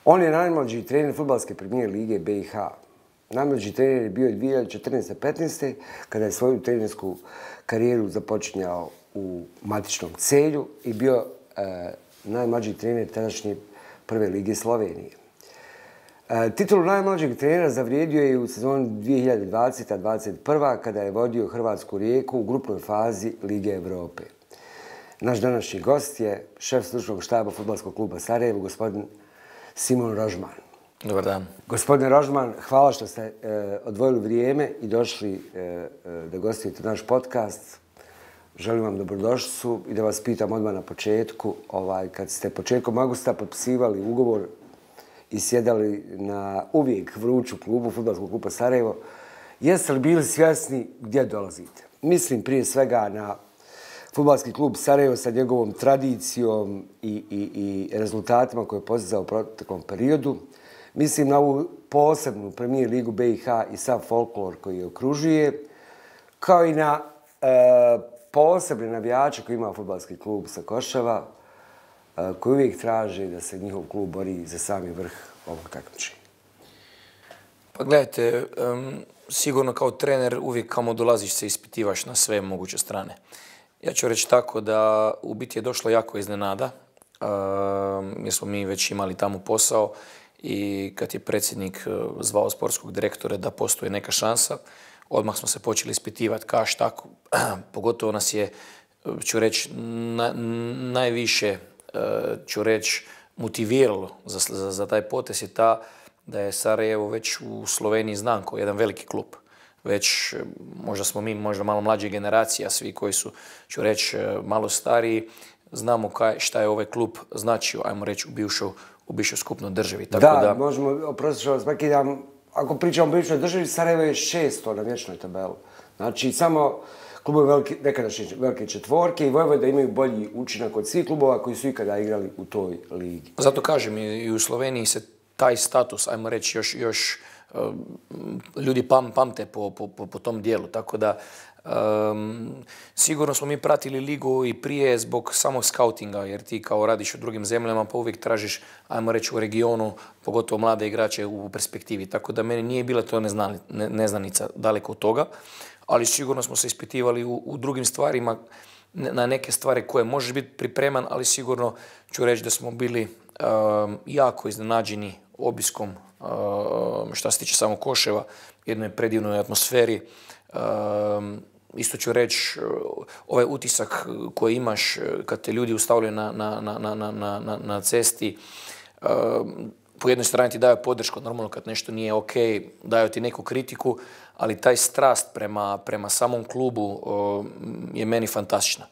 On je najmlađi trener fudbalske premijer lige BiH. Najmlađi trener je bio 2014-15. kada je svoju trenersku karijeru započinjao u matičnom Celju i bio najmlađi trener tadašnje prve lige Slovenije. Titulu najmlađeg trenera zavrijedio je u sezoni 2020-2021. kada je vodio Hrvatsku Rijeku u grupnoj fazi Lige Evrope. Naš današnji gost je šef stručnog štaba Fudbalskog kluba Sarajevo, gospodin Simon Rožman. Dobar dan. Gospodine Rožman, hvala što ste odvojili vrijeme i došli da gostujete naš podcast. Želim vam dobrodošlicu i da vas pitam odmah na početku. Kad ste početkom augusta potpisivali ugovor i sjedali na uvijek vruću klubu Fudbalskog kluba Sarajevo, jeste li bili svjesni gdje dolazite? Mislim prije svega na Fudbalski klub Sarajevo sa njegovom tradicijom i rezultatima koje je postizao u proteklom periodu. Mislim na ovu posebnu premijer ligu BiH i sav folklor koji je okružuje, kao i na posebne navijače koji ima Fudbalski klub sa Koševa, koji uvijek traže da se njihov klub bori za sami vrh ovog takmičenja. Pa gledajte, sigurno kao trener uvijek kamo dolaziš se ispitivaš na sve moguće strane. Ja ću reći tako da u biti je došlo jako iznenada, jer smo mi već imali tamo posao i kad je predsjednik zvao sportskog direktora da postoji neka šansa, odmah smo se počeli ispitivati kaš tako. Pogotovo nas je, ću reći, najviše ću reći, motiviralo za taj potez je ta da je Sarajevo već u Sloveniji znan kao jedan veliki klub. Već možda smo mi možda malo mlađe generacija, svi koji su, ću reći, malo stariji, znamo šta je ovaj klub značio, ajmo reći, u bivšoj skupnoj državi. Tako da, možemo, oprosti što vas prekidam, ako pričamo o bivšoj državi, Sarajevo je 600 na vječnoj tabeli. Znači, samo klubovi nekadašnje velike četvorke i Vojvoda imaju bolji učinak od svih klubova koji su ikada igrali u toj ligi. Zato kažem, i u Sloveniji se taj status, ajmo reći, još ljudi pamte po tom dijelu. Tako da sigurno smo mi pratili ligu i prije zbog samog skautinga, jer ti kao radiš u drugim zemljama pa uvijek tražiš, ajmo reći, u regionu, pogotovo mlade igrače u perspektivi. Tako da meni nije bila to neznanica daleko od toga, ali sigurno smo se ispitivali u drugim stvarima, na neke stvari koje možeš biti pripreman, ali sigurno ću reći da smo bili jako iznenađeni obiskom što se tiče samog Koševa, jednoj predivnoj atmosferi. Isto ću reći, ovaj utisak koji imaš kad te ljudi ustavljaju na cesti, po jednoj strani ti daju podršku, normalno kad nešto nije ok, daju ti neku kritiku, ali taj strast prema samom klubu je meni fantastična.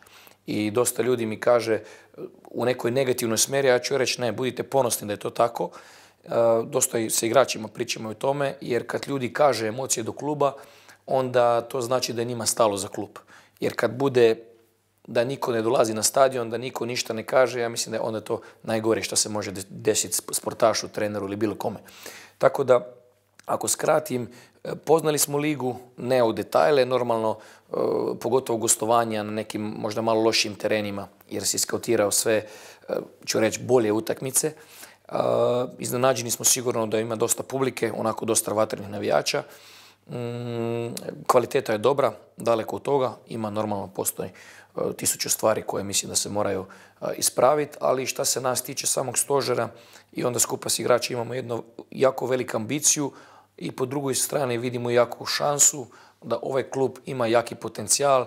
I dosta ljudi mi kaže u nekoj negativnoj smjeri, ja ću reći ne, budite ponosni da je to tako. Dosta sa igračima pričamo o tome, jer kad ljudi kaže emocije do kluba, onda to znači da je njima stalo za klub. Jer kad bude da niko ne dolazi na stadion, da niko ništa ne kaže, ja mislim da je onda to najgore što se može desiti sportašu, treneru ili bilo kome. Tako da, ako skratim, poznali smo ligu, ne u detajle, normalno, pogotovo gostovanja na nekim možda malo lošim terenima, jer si skautirao sve, ću reći, bolje utakmice. Iznenađeni smo sigurno da ima dosta publike, onako dosta vatrenih navijača. Kvaliteta je dobra, daleko od toga, ima normalno postoji 1000 stvari koje mislim da se moraju ispraviti, ali šta se nas tiče samog stožera i onda skupa s igrači imamo jednu jako veliku ambiciju i po drugoj strani vidimo jaku šansu da ovaj klub ima jaki potencijal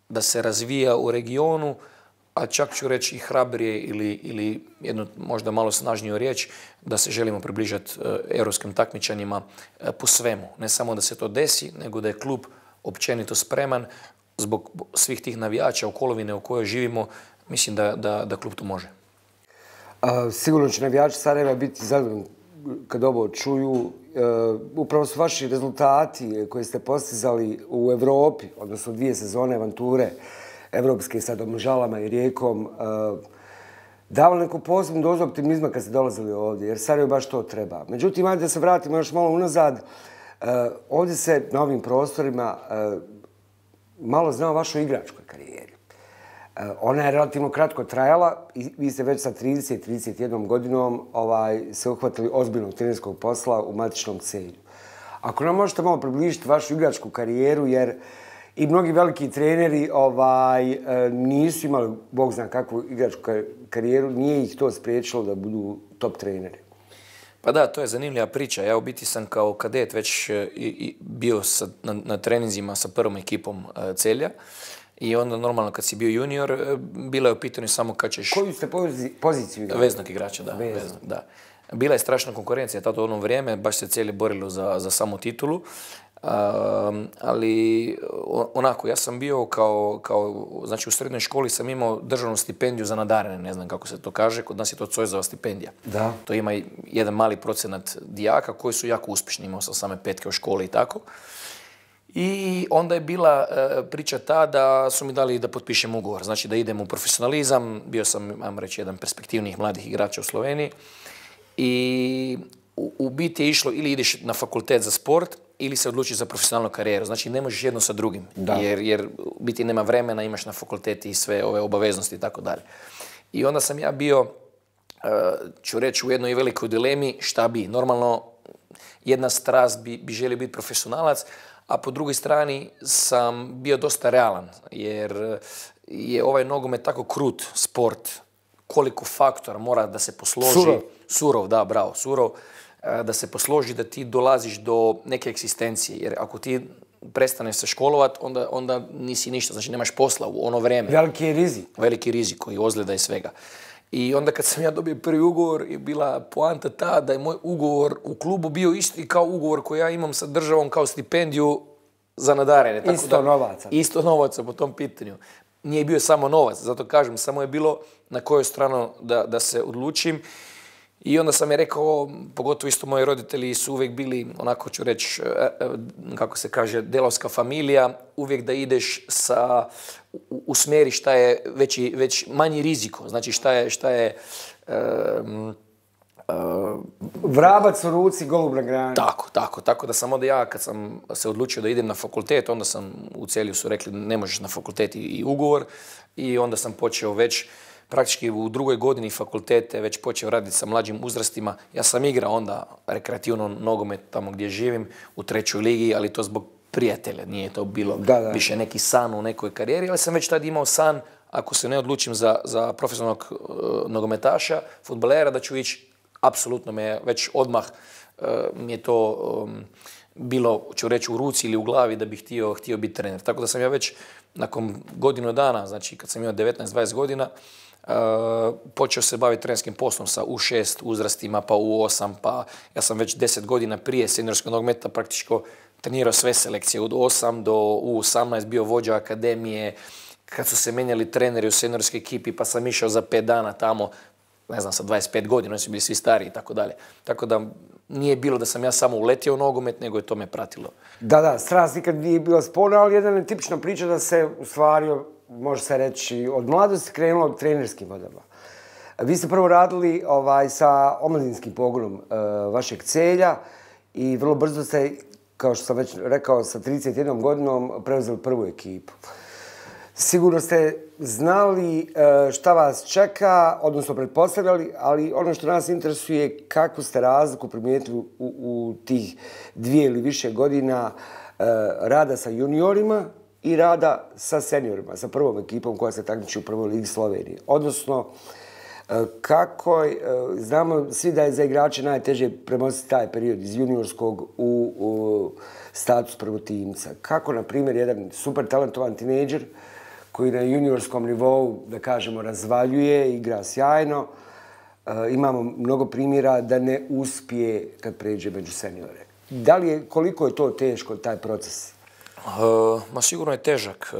da se razvija u regionu, a čak ću reći i hrabrije ili jednu možda malo snažniju riječ, da se želimo približati europskim takmičanjima po svemu. Ne samo da se to desi, nego da je klub općenito spreman zbog svih tih navijača okoline u kojoj živimo, mislim da klub to može. Sigurno će navijači Sarajeva biti zadovoljni kad ovo čuju. Upravo su vaši rezultati koje ste postizali u Evropi, odnosno 2 sezone avanture evropske sa Domžalama i Rijekom, davali neku posebnu dozu optimizma kad ste dolazili ovdje, jer Sarajevo baš to treba. Međutim, ajde da se vratimo još malo unazad. Ovdje se na ovim prostorima malo zna o vašoj igračkoj karijeri. Ona je relativno kratko trajala i vi ste već sa 30-31 godinom se uhvatili ozbiljnog trenerskog posla u matičnom Celju. Ako nam možete malo približiti vašu igračku karijeru, jer i mnogi veliki treneri nisu imali, Bog zna kakvu igračku karijeru, nije ih to spriječilo da budu top treneri. Pa da, to je zanimljiva priča. Ja u biti sam kao kadet već bio na treninzima sa prvom ekipom Celja. I onda normalno kad si bio junior, bila je u pitanju samo kad ćeš... Koju ste poziciju igrali? Veznog igrača, da. Da. Bila je strašna konkurencija tada u ono vrijeme, baš se Celje borilo za samu titulu. Ali onako, ja sam bio znači u srednjoj školi sam imao državnu stipendiju za nadarene, ne znam kako se to kaže, kod nas je to Cojzova stipendija. Da. To ima jedan mali procenat dijaka koji su jako uspješni, imao sam same petke u školi i tako. I onda je bila priča ta da su mi dali da potpišem ugovor, znači da idem u profesionalizam, bio sam, ajmo reći, jedan perspektivnih mladih igrača u Sloveniji i u biti je išlo ili ideš na fakultet za sport ili se odlučiš za profesionalnu karijeru, znači ne možeš jedno sa drugim, jer u biti nema vremena, imaš na fakulteti i sve ove obaveznosti i tako dalje. I onda sam ja bio, ću reći, u jednoj velikoj dilemi šta bi. Normalno, jedna strast bi želio biti profesionalac, a po drugoj strani sam bio dosta realan, jer je ovaj nogomet tako krut sport, koliko faktora mora da se posloži. Surov, da, bravo, surov. Da se posloži da ti dolaziš do neke egzistencije, jer ako ti prestaneš se školovat, onda nisi ništa, znači nemaš posla u ono vrijeme. Veliki je rizik. Veliki rizik i ozljeda i svega. I onda kad sam ja dobio prvi ugovor, je bila poanta ta da je moj ugovor u klubu bio isti kao ugovor koji ja imam sa državom kao stipendiju za nadarene. Isto novaca. Isto novaca po tom pitanju. Nije bio samo novac, zato kažem, samo je bilo na kojoj stranu da se odlučim. I onda sam je rekao, pogotovo isto moji roditelji su uvijek bili, onako ću reći, kako se kaže, delovska familija, uvijek da ideš u smjeri šta je već manji riziko, znači šta je vrabac u ruci, golub na grani. Tako da sam onda ja, kad sam se odlučio da idem na fakultet, onda sam u Celju su rekli ne možeš na fakultet i ugovor i onda sam počeo već praktički u drugoj godini fakultete već počeo raditi sa mlađim uzrastima. Ja sam igrao onda rekreativno nogomet tamo gdje živim u 3. ligi, ali to zbog prijatelja. Nije to bilo više neki san u nekoj karijeri, ali sam već tad imao san, ako se ne odlučim za profesionalnog nogometaša, fudbalera, da ću ići, apsolutno me već odmah mi je to bilo, ću reći, u ruci ili u glavi da bih htio biti trener. Tako da sam ja već nakon godinu dana, znači kad sam imao 19-20 godina, počeo se baviti trenerskim poslom sa U6 uzrastima, pa U8, pa ja sam već 10 godina prije seniorskog nogometa praktički trenirao sve selekcije od 8 do U18, bio vođa akademije, kad su se menjali treneri u seniorskoj ekipi, pa sam išao za 5 dana tamo, ne znam, sa 25 godina, oni su bili svi stari i tako dalje. Tako da nije bilo da sam ja samo uletio u nogomet, nego je to me pratilo. Da, strast nikad nije bila sporna, ali jedna je tipična priča da se u stvari, može se reći, od mladosti krenulo trenerskim vodama. Vi ste prvo radili sa omladinskim pogonom vašeg Celja i vrlo brzo ste, kao što sam već rekao, sa 31 godinom preuzeli prvu ekipu. Sigurno ste znali šta vas čeka, odnosno pretpostavljali, ali ono što nas interesuje kakvu ste razliku primijetili u tih 2 ili više godina rada sa juniorima i rada sa seniorima, sa prvom ekipom koja se takmiči u prvoj ligi Slovenije. Odnosno, kako znamo svi da je za igrače najteže premostiti taj period iz juniorskog u status prvotimca. Kako, na primjer, jedan super talentovan tinejdžer koji na juniorskom nivou, da kažemo, razvaljuje, igra sjajno. Imamo mnogo primjera da ne uspije kad pređe među seniore. Koliko je to teško, taj proces? Ma sigurno je težak.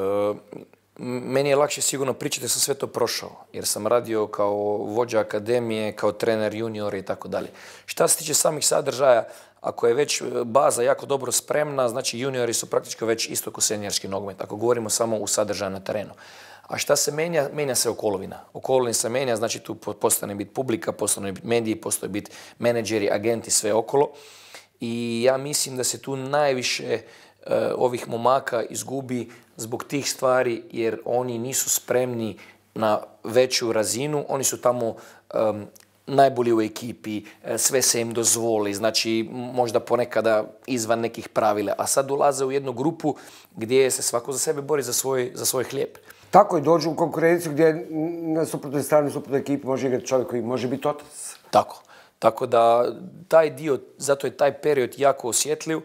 Meni je lakše sigurno pričati da sam sve to prošao, jer sam radio kao vođa akademije, kao trener juniora i tako dalje. Šta se tiče samih sadržaja, ako je već baza jako dobro spremna, znači juniori su praktički već isto kao seniorski nogomet, ako govorimo samo u sadržaju na terenu. A šta se menja? Menja se okolovina. Okolovina se menja, znači tu postane biti publika, postane biti mediji, postane biti menadžeri, agenti, sve okolo. I ja mislim da se tu najviše ovih momaka izgubi zbog tih stvari jer oni nisu spremni na veću razinu, oni su tamo najbolji u ekipi, sve se im dozvoli, znači možda ponekada izvan nekih pravila, a sad ulaze u jednu grupu gdje se svako za sebe bori za svoj hlijeb. Tako je, dođu u konkurenciju gdje na suprotnoj strani, suprotnoj ekipi može igrati čovjek koji može biti otac. Tako da taj dio, zato je taj period jako osjetljiv,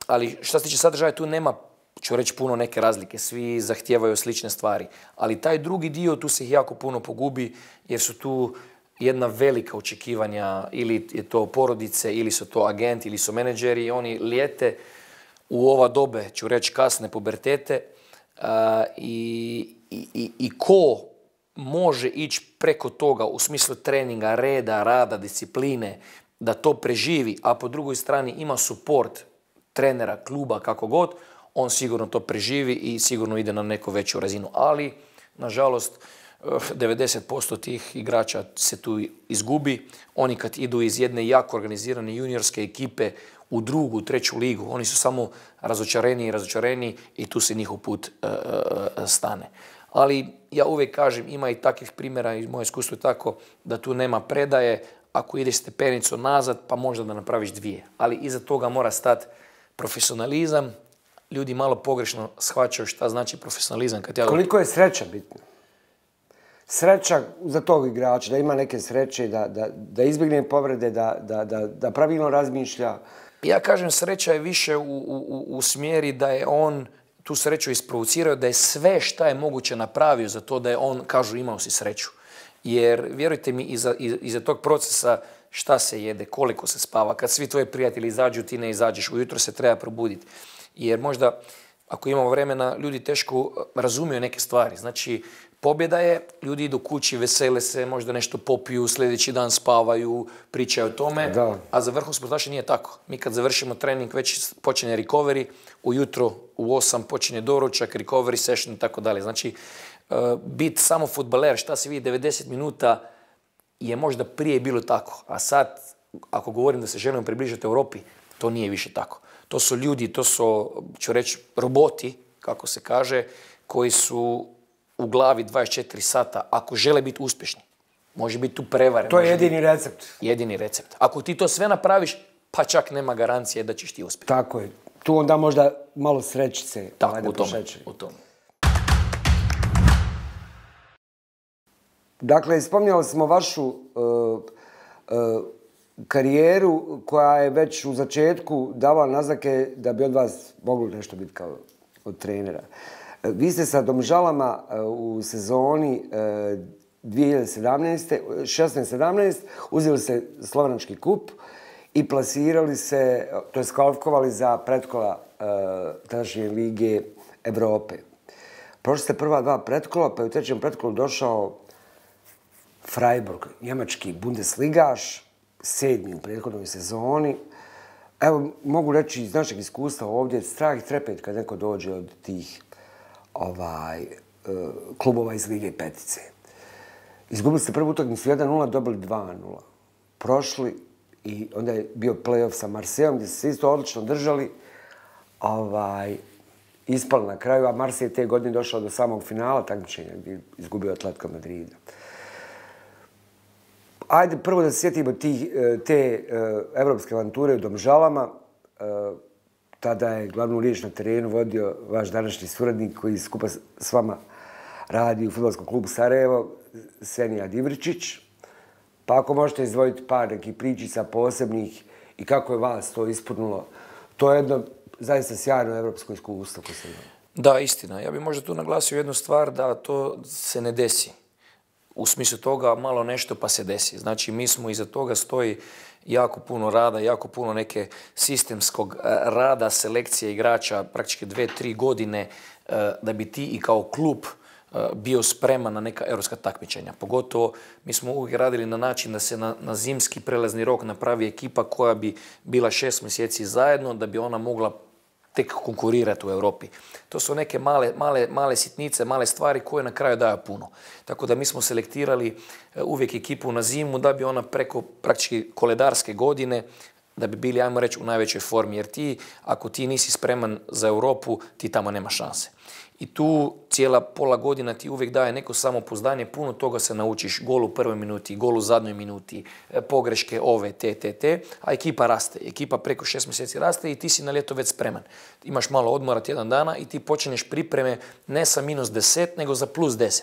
ali što se tiče sadržaja, tu nema, ću reći, puno neke razlike. Svi zahtijevaju slične stvari. Ali taj drugi dio, tu se ih jako puno pogubi jer su tu jedna velika očekivanja, ili je to porodice, ili su to agenti, ili su menadžeri. Oni lijete u ova dobe, ću reći, kasne pubertete i ko može ići preko toga u smislu treninga, reda, rada, discipline, da to preživi, a po drugoj strani ima suport trenera, kluba, kako god, on sigurno to preživi i sigurno ide na neku veću razinu. Ali, nažalost, 90% tih igrača se tu izgubi. Oni kad idu iz jedne jako organizirane juniorske ekipe u drugu, treću ligu, oni su samo razočareni i tu se njihov put stane. Ali ja uvijek kažem, ima i takvih primjera, i moje iskustvo je tako, da tu nema predaje. Ako ideš stepenicu nazad, pa možda da napraviš dvije. Ali iza toga mora stati profesionalizam. Ljudi malo pogrešno shvaćaju šta znači profesionalizam. Koliko je sreća bitna? Sreća za tog igrača, da ima neke sreće, da izbjegne povrede, da pravilno razmišlja. Ja kažem, sreća je više u smjeri da je on tu sreću isprovocirao, da je sve šta je moguće napravio za to da je on, kažu, imao si sreću. Jer, vjerujte mi, iza tog procesa šta se jede, koliko se spava, kad svi tvoji prijatelji izađu, ti ne izađeš, ujutro se treba probuditi. Jer možda, ako imamo vremena, ljudi teško razumiju neke stvari. Znači, pobjeda je, ljudi idu kući, vesele se, možda nešto popiju, sljedeći dan spavaju, pričaju o tome, a za vrhunske sportaše nije tako. Mi kad završimo trening, već počinje recovery, ujutro u 8 počinje doručak, recovery session i tako dalje. Znači, biti samo fudbaler, šta se vidi 90 minuta, je možda prije bilo tako. A sad, ako govorim da se želimo približiti Europi, to nije više tako. To su ljudi, to su, ću reći, roboti, kako se kaže, koji su u glavi 24 sata, ako žele biti uspješni. Može biti tu prevare. To je jedini recept. Jedini recept. Ako ti to sve napraviš, pa čak nema garancije da ćeš ti uspjeti. Tako je. Tu onda možda malo srećice. Tako, u tome. Dakle, spominjali smo vašu karijeru koja je već u začetku davala naznake da bi od vas moglo nešto biti kao od trenera. Vi ste sa Domžalama u sezoni 2016-17 uzeli ste Slovenački kup i plasirali se, to je kvalifikovali za pretkola tadašnje Lige Evrope. Prošli ste prva dva pretkola, pa je u trećem pretkolu došao Freiburg, njemački Bundesligaš, 7. u prethodnoj sezoni. Evo, mogu reći iz našeg iskustva ovdje, strah i trepet kad neko dođe od tih klubova iz Lige petice. Izgubili ste prvu utakmicu 1-0, dobili 2-0. Prošli i onda je bio play-off sa Marseillom gdje se isto odlično držali. Ispali na kraju, a Marseille je te godine došao do samog finala takmičenja gdje je izgubio Atletico Madrida. Ajde prvo da se sjetimo te evropske avanture u Domžalama. Tada je glavnu riječ na terenu vodio vaš današnji suradnik koji skupa s vama radi u fudbalskom klubu Sarajevo, Senijad Ivričić. Pa ako možete izdvojiti par nekih pričica posebnih i kako je vas to ispunilo, to je jedno zaista sjajno evropsko iskustvo. Da, istina. Ja bih možda tu naglasio jednu stvar da to se ne desi. U smislu toga malo nešto pa se desi. Znači, mi smo iza toga stoji jako puno rada, jako puno neke sistemskog rada, selekcije igrača, praktički 2-3 godine da bi ti i kao klub bio spreman na neka europska takmičenja. Pogotovo mi smo uvijek radili na način da se na zimski prelazni rok napravi ekipa koja bi bila 6 mjeseci zajedno da bi ona mogla tek konkurirati u Europi. To su neke male sitnice, male stvari koje na kraju daju puno. Tako da mi smo selektirali uvijek ekipu na zimu da bi ona preko praktički koledarske godine da bi bili, ajmo reći, u najvećoj formi. Jer ako ti nisi spreman za Europu, ti tamo nema šanse. I tu cijela pola godina ti uvijek daje neko samopouzdanje, puno toga se naučiš, gol u prvoj minuti, gol u zadnjoj minuti, pogreške ove, te, a ekipa raste. Ekipa preko 6 mjeseci raste i ti si na ljeto već spreman. Imaš malo odmora tjedan dana i ti počinješ pripreme ne sa -10, nego za +10.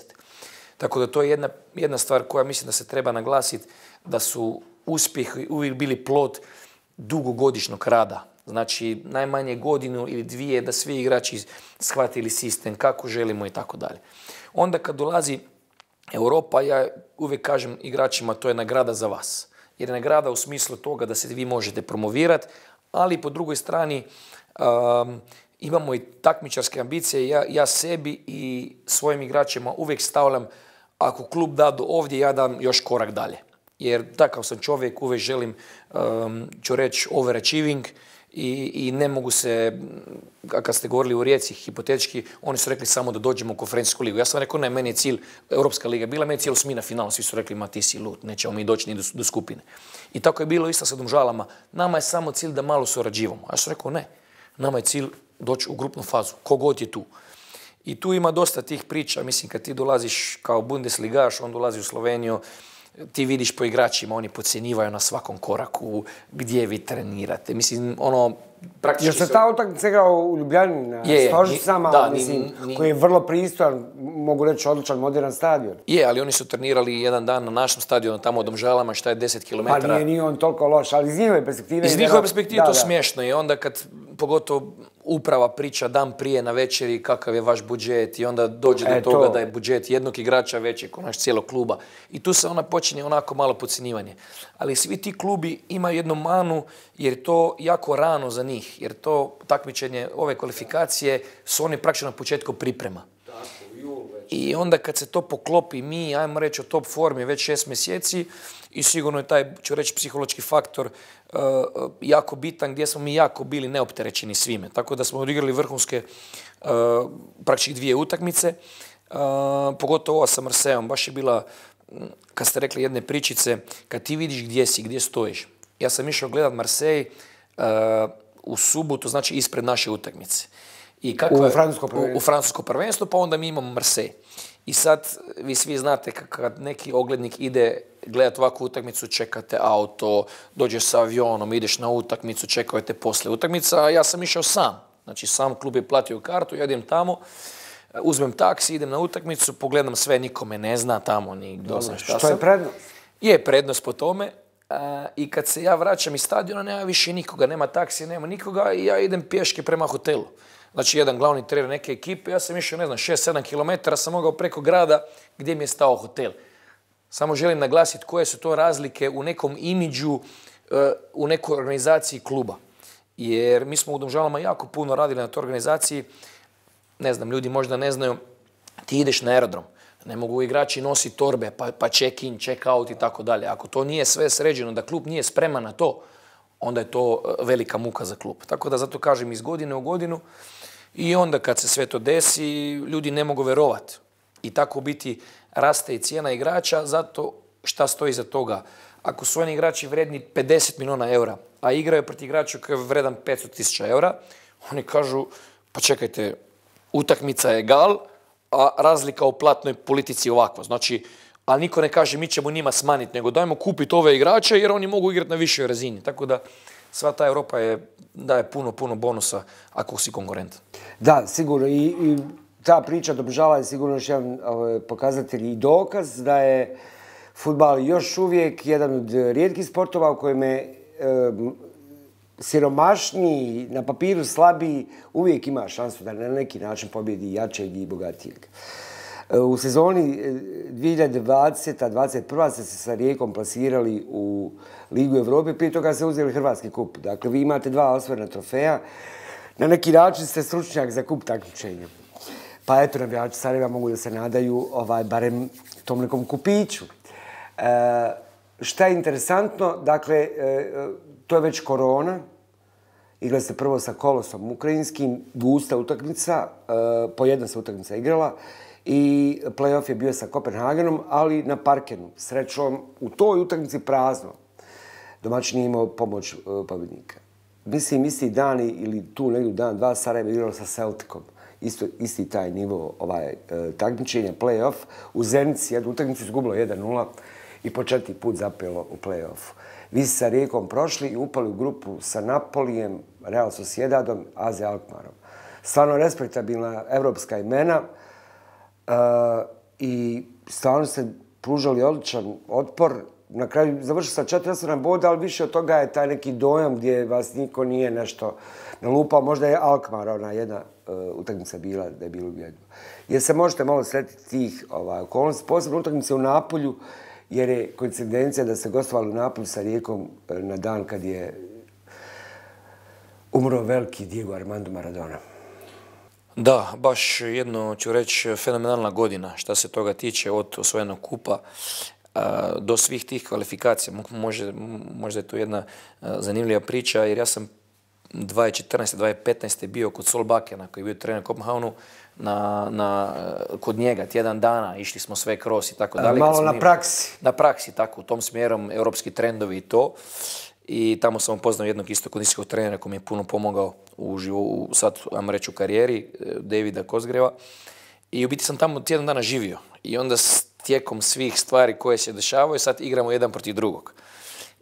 Tako da to je jedna stvar koja mislim da se treba naglasiti, da su uspjehi uvijek bili plod dugogodišnjeg rada. Znači, najmanje godinu ili dvije da svi igrači shvatili sistem, kako želimo i tako dalje. Onda kad dolazi Europa, ja uvijek kažem igračima, to je nagrada za vas. Jer je nagrada u smislu toga da se vi možete promovirati, ali po drugoj strani imamo i takmičarske ambicije. Ja sebi i svojim igračima uvijek stavljam, ako klub da do ovdje, ja dam još korak dalje. Jer takav sam čovjek, uvijek želim, ću reći, overachieving i ne mogu se, kad ste govorili u Rijeci, hipotetički, oni su rekli samo da dođemo u konferencijsku ligu. Ja sam rekao, ne, meni je cilj Europska liga. Bila meni je cilj osmina finala, svi su rekli, ma ti si lud, nećemo mi doći ni do skupine. I tako je bilo isto sa Domžalama. Nama je samo cilj da malo surađivamo. Ja sam rekao, ne, nama je cilj doći u grupnu fazu, kogod je tu. I tu ima dosta tih priča, mislim, kad ti dolaziš kao Bundesligaš, on dolazi u Sloveniju, ti vidiš po igračima, oni podcjenjivaju na svakom koraku gdje vi trenirate. Mislim, praktički... Jer se ta utakmica igrao u Ljubljani na Stožić sama, koji je vrlo pristojan, mogu reći odličan, modern stadion. Je, ali oni su trenirali jedan dan na našem stadionu, tamo u Domžalama, šta je 10 km. Pa nije on toliko loš, ali iz njihove perspektive... Iz njihove perspektive to smiješno je. Onda kad, pogotovo uprava priča dan prije na večeri kakav je vaš budžet i onda dođe do toga da je budžet jednog igrača veći kao naš cijelog kluba. I tu se ona počinje onako malo podcjenjivanje. Ali svi ti klubi imaju jednu manu jer je to jako rano za njih. Jer to takmičenje, ove kvalifikacije su oni praktično na početku priprema. I onda kad se to poklopi, mi, ajmo reći, o top formi već 6 mjeseci i sigurno je taj, ću reći, psihološki faktor jako bitan gdje smo mi jako bili neopterećeni svime. Tako da smo odigrali vrhunske praktički 2 utakmice, pogotovo ova sa Marseillom. Baš je bila, kad ste rekli jedne pričice, kad ti vidiš gdje si, gdje stojiš. Ja sam išao gledat Marseille u subotu, znači ispred naše utakmice. U francusko prvenstvo, pa onda mi imamo Marseille. I sad, vi svi znate, kad neki oglednik ide gledati ovakvu utakmicu, čekate auto, dođeš sa avionom, ideš na utakmicu, čekajte posle utakmica, a ja sam išao sam. Znači, sam klub je platio kartu, ja idem tamo, uzmem taksi, idem na utakmicu, pogledam sve, nikome ne zna tamo, ni kdo zna šta sam. Što je prednost? Je prednost po tome. I kad se ja vraćam iz stadiona, nema više nikoga, nema taksije, nema nikoga i ja idem pješke prema hotelu. Znači, jedan glavni trener neke ekipe, ja sam išao, 6-7 km, sam mogao preko grada gdje mi je stao hotel. Samo želim naglasiti koje su to razlike u nekom imidžu, u nekoj organizaciji kluba. Jer mi smo u Domžalama jako puno radili na toj organizaciji. Ne znam, ljudi možda ne znaju, ti ideš na aerodrom. Ne mogu igrači nositi torbe, pa check-in, check-out i tako dalje. Ako to nije sve sređeno, da klub nije spreman na to, onda je to velika muka za klub. Tako da zato kažem iz godine u godinu i onda kad se sve to desi, ljudi ne mogu verovati. I tako biti raste i cijena igrača, zato šta stoji iza toga. Ako su oni igrači vredni 50 milijuna eura, a igraju protiv igrača koji je vredan 500.000 eura, oni kažu, pa čekajte, utakmica je gal, a razlika u platnoj politici je ovakva. Znači, ali niko ne kaže mi ćemo njima smanjiti, nego dajmo kupiti ove igrače jer oni mogu igrati na višoj razini. Tako da sva ta Europa daje puno bonusa ako si konkurentan. Da, sigurno. I ta priča Domžala je sigurno još jedan pokazatelj i dokaz da je fudbal još uvijek jedan od rijetkih sportova u kojem je siromašniji, na papiru slabiji, uvijek ima šansu da na neki način pobjedi jačeg i bogatijeg. U sezoni 2020-2021 ste se sa Rijekom plasirali u Ligu Evrope, prije toga ste uzeli Hrvatski kup. Dakle, vi imate 2 osvojena trofeja. Na neki način ste stručnjak za kup takmičenja. Pa eto, navijači Sarajeva mogu da se nadaju barem tom nekom kupiću. Šta je interesantno, dakle, to je već korona. Igrali ste prvo sa Kolosom ukrajinskim, gusta utakmica, po jedna se utakmica igrala i play-off je bio sa Kopenhagenom, ali na Parkenu. Srećom, u toj utakmici prazno. domaćin nije imao pomoć pobjednika. Mislim, isti dan ili tu negdje dan, dva Sarajevo igralo sa Celticom. Isti taj nivo takmičenja, play-off. U Zenici jednu utakmicu izgubilo 1-0 i po 4 put zapelo u play-offu. Vi ste sa Rijekom prošli i upali u grupu sa Napolijem, Real Sociedadom, AZ Alkmarom. Stvarno respektabilna evropska imena i stvarno ste pružali odličan otpor. Na kraju završili sa 4 boda, ali više od toga je taj neki dojam gdje vas niko nije nešto nalupao. Možda je Alkmaar ona jedna utakmica bila da je bilo ubjedljivo. Jer se možete malo sretiti tih okolnosti, posebno utakmice u Napolju, jer je koincidencija da se gostovali u Napolju sa Rijekom na dan kad je umro veliki Diego Armando Maradona. Da, baš jedno ću reći fenomenalna godina šta se toga tiče od osvojenog kupa do svih tih kvalifikacija. Možda je to jedna zanimljiva priča jer ja sam 2014. 2015. bio kod Solbakena koji je bio trener u Kopenhavnu kod njega tjedan dana, išli smo sve kroz i tako dalje. Malo na praksi. Na praksi, tako, u tom smjerom, europski trendovi i to. I tamo sam upoznao jednog isto kondicijskog trenera koji mi je puno pomogao sad, ajmo reći, u karijeri, Davida Kozgreva. I u biti sam tamo tjedan dana živio. I onda tijekom svih stvari koje se dešavaju, sad igramo jedan protiv drugog.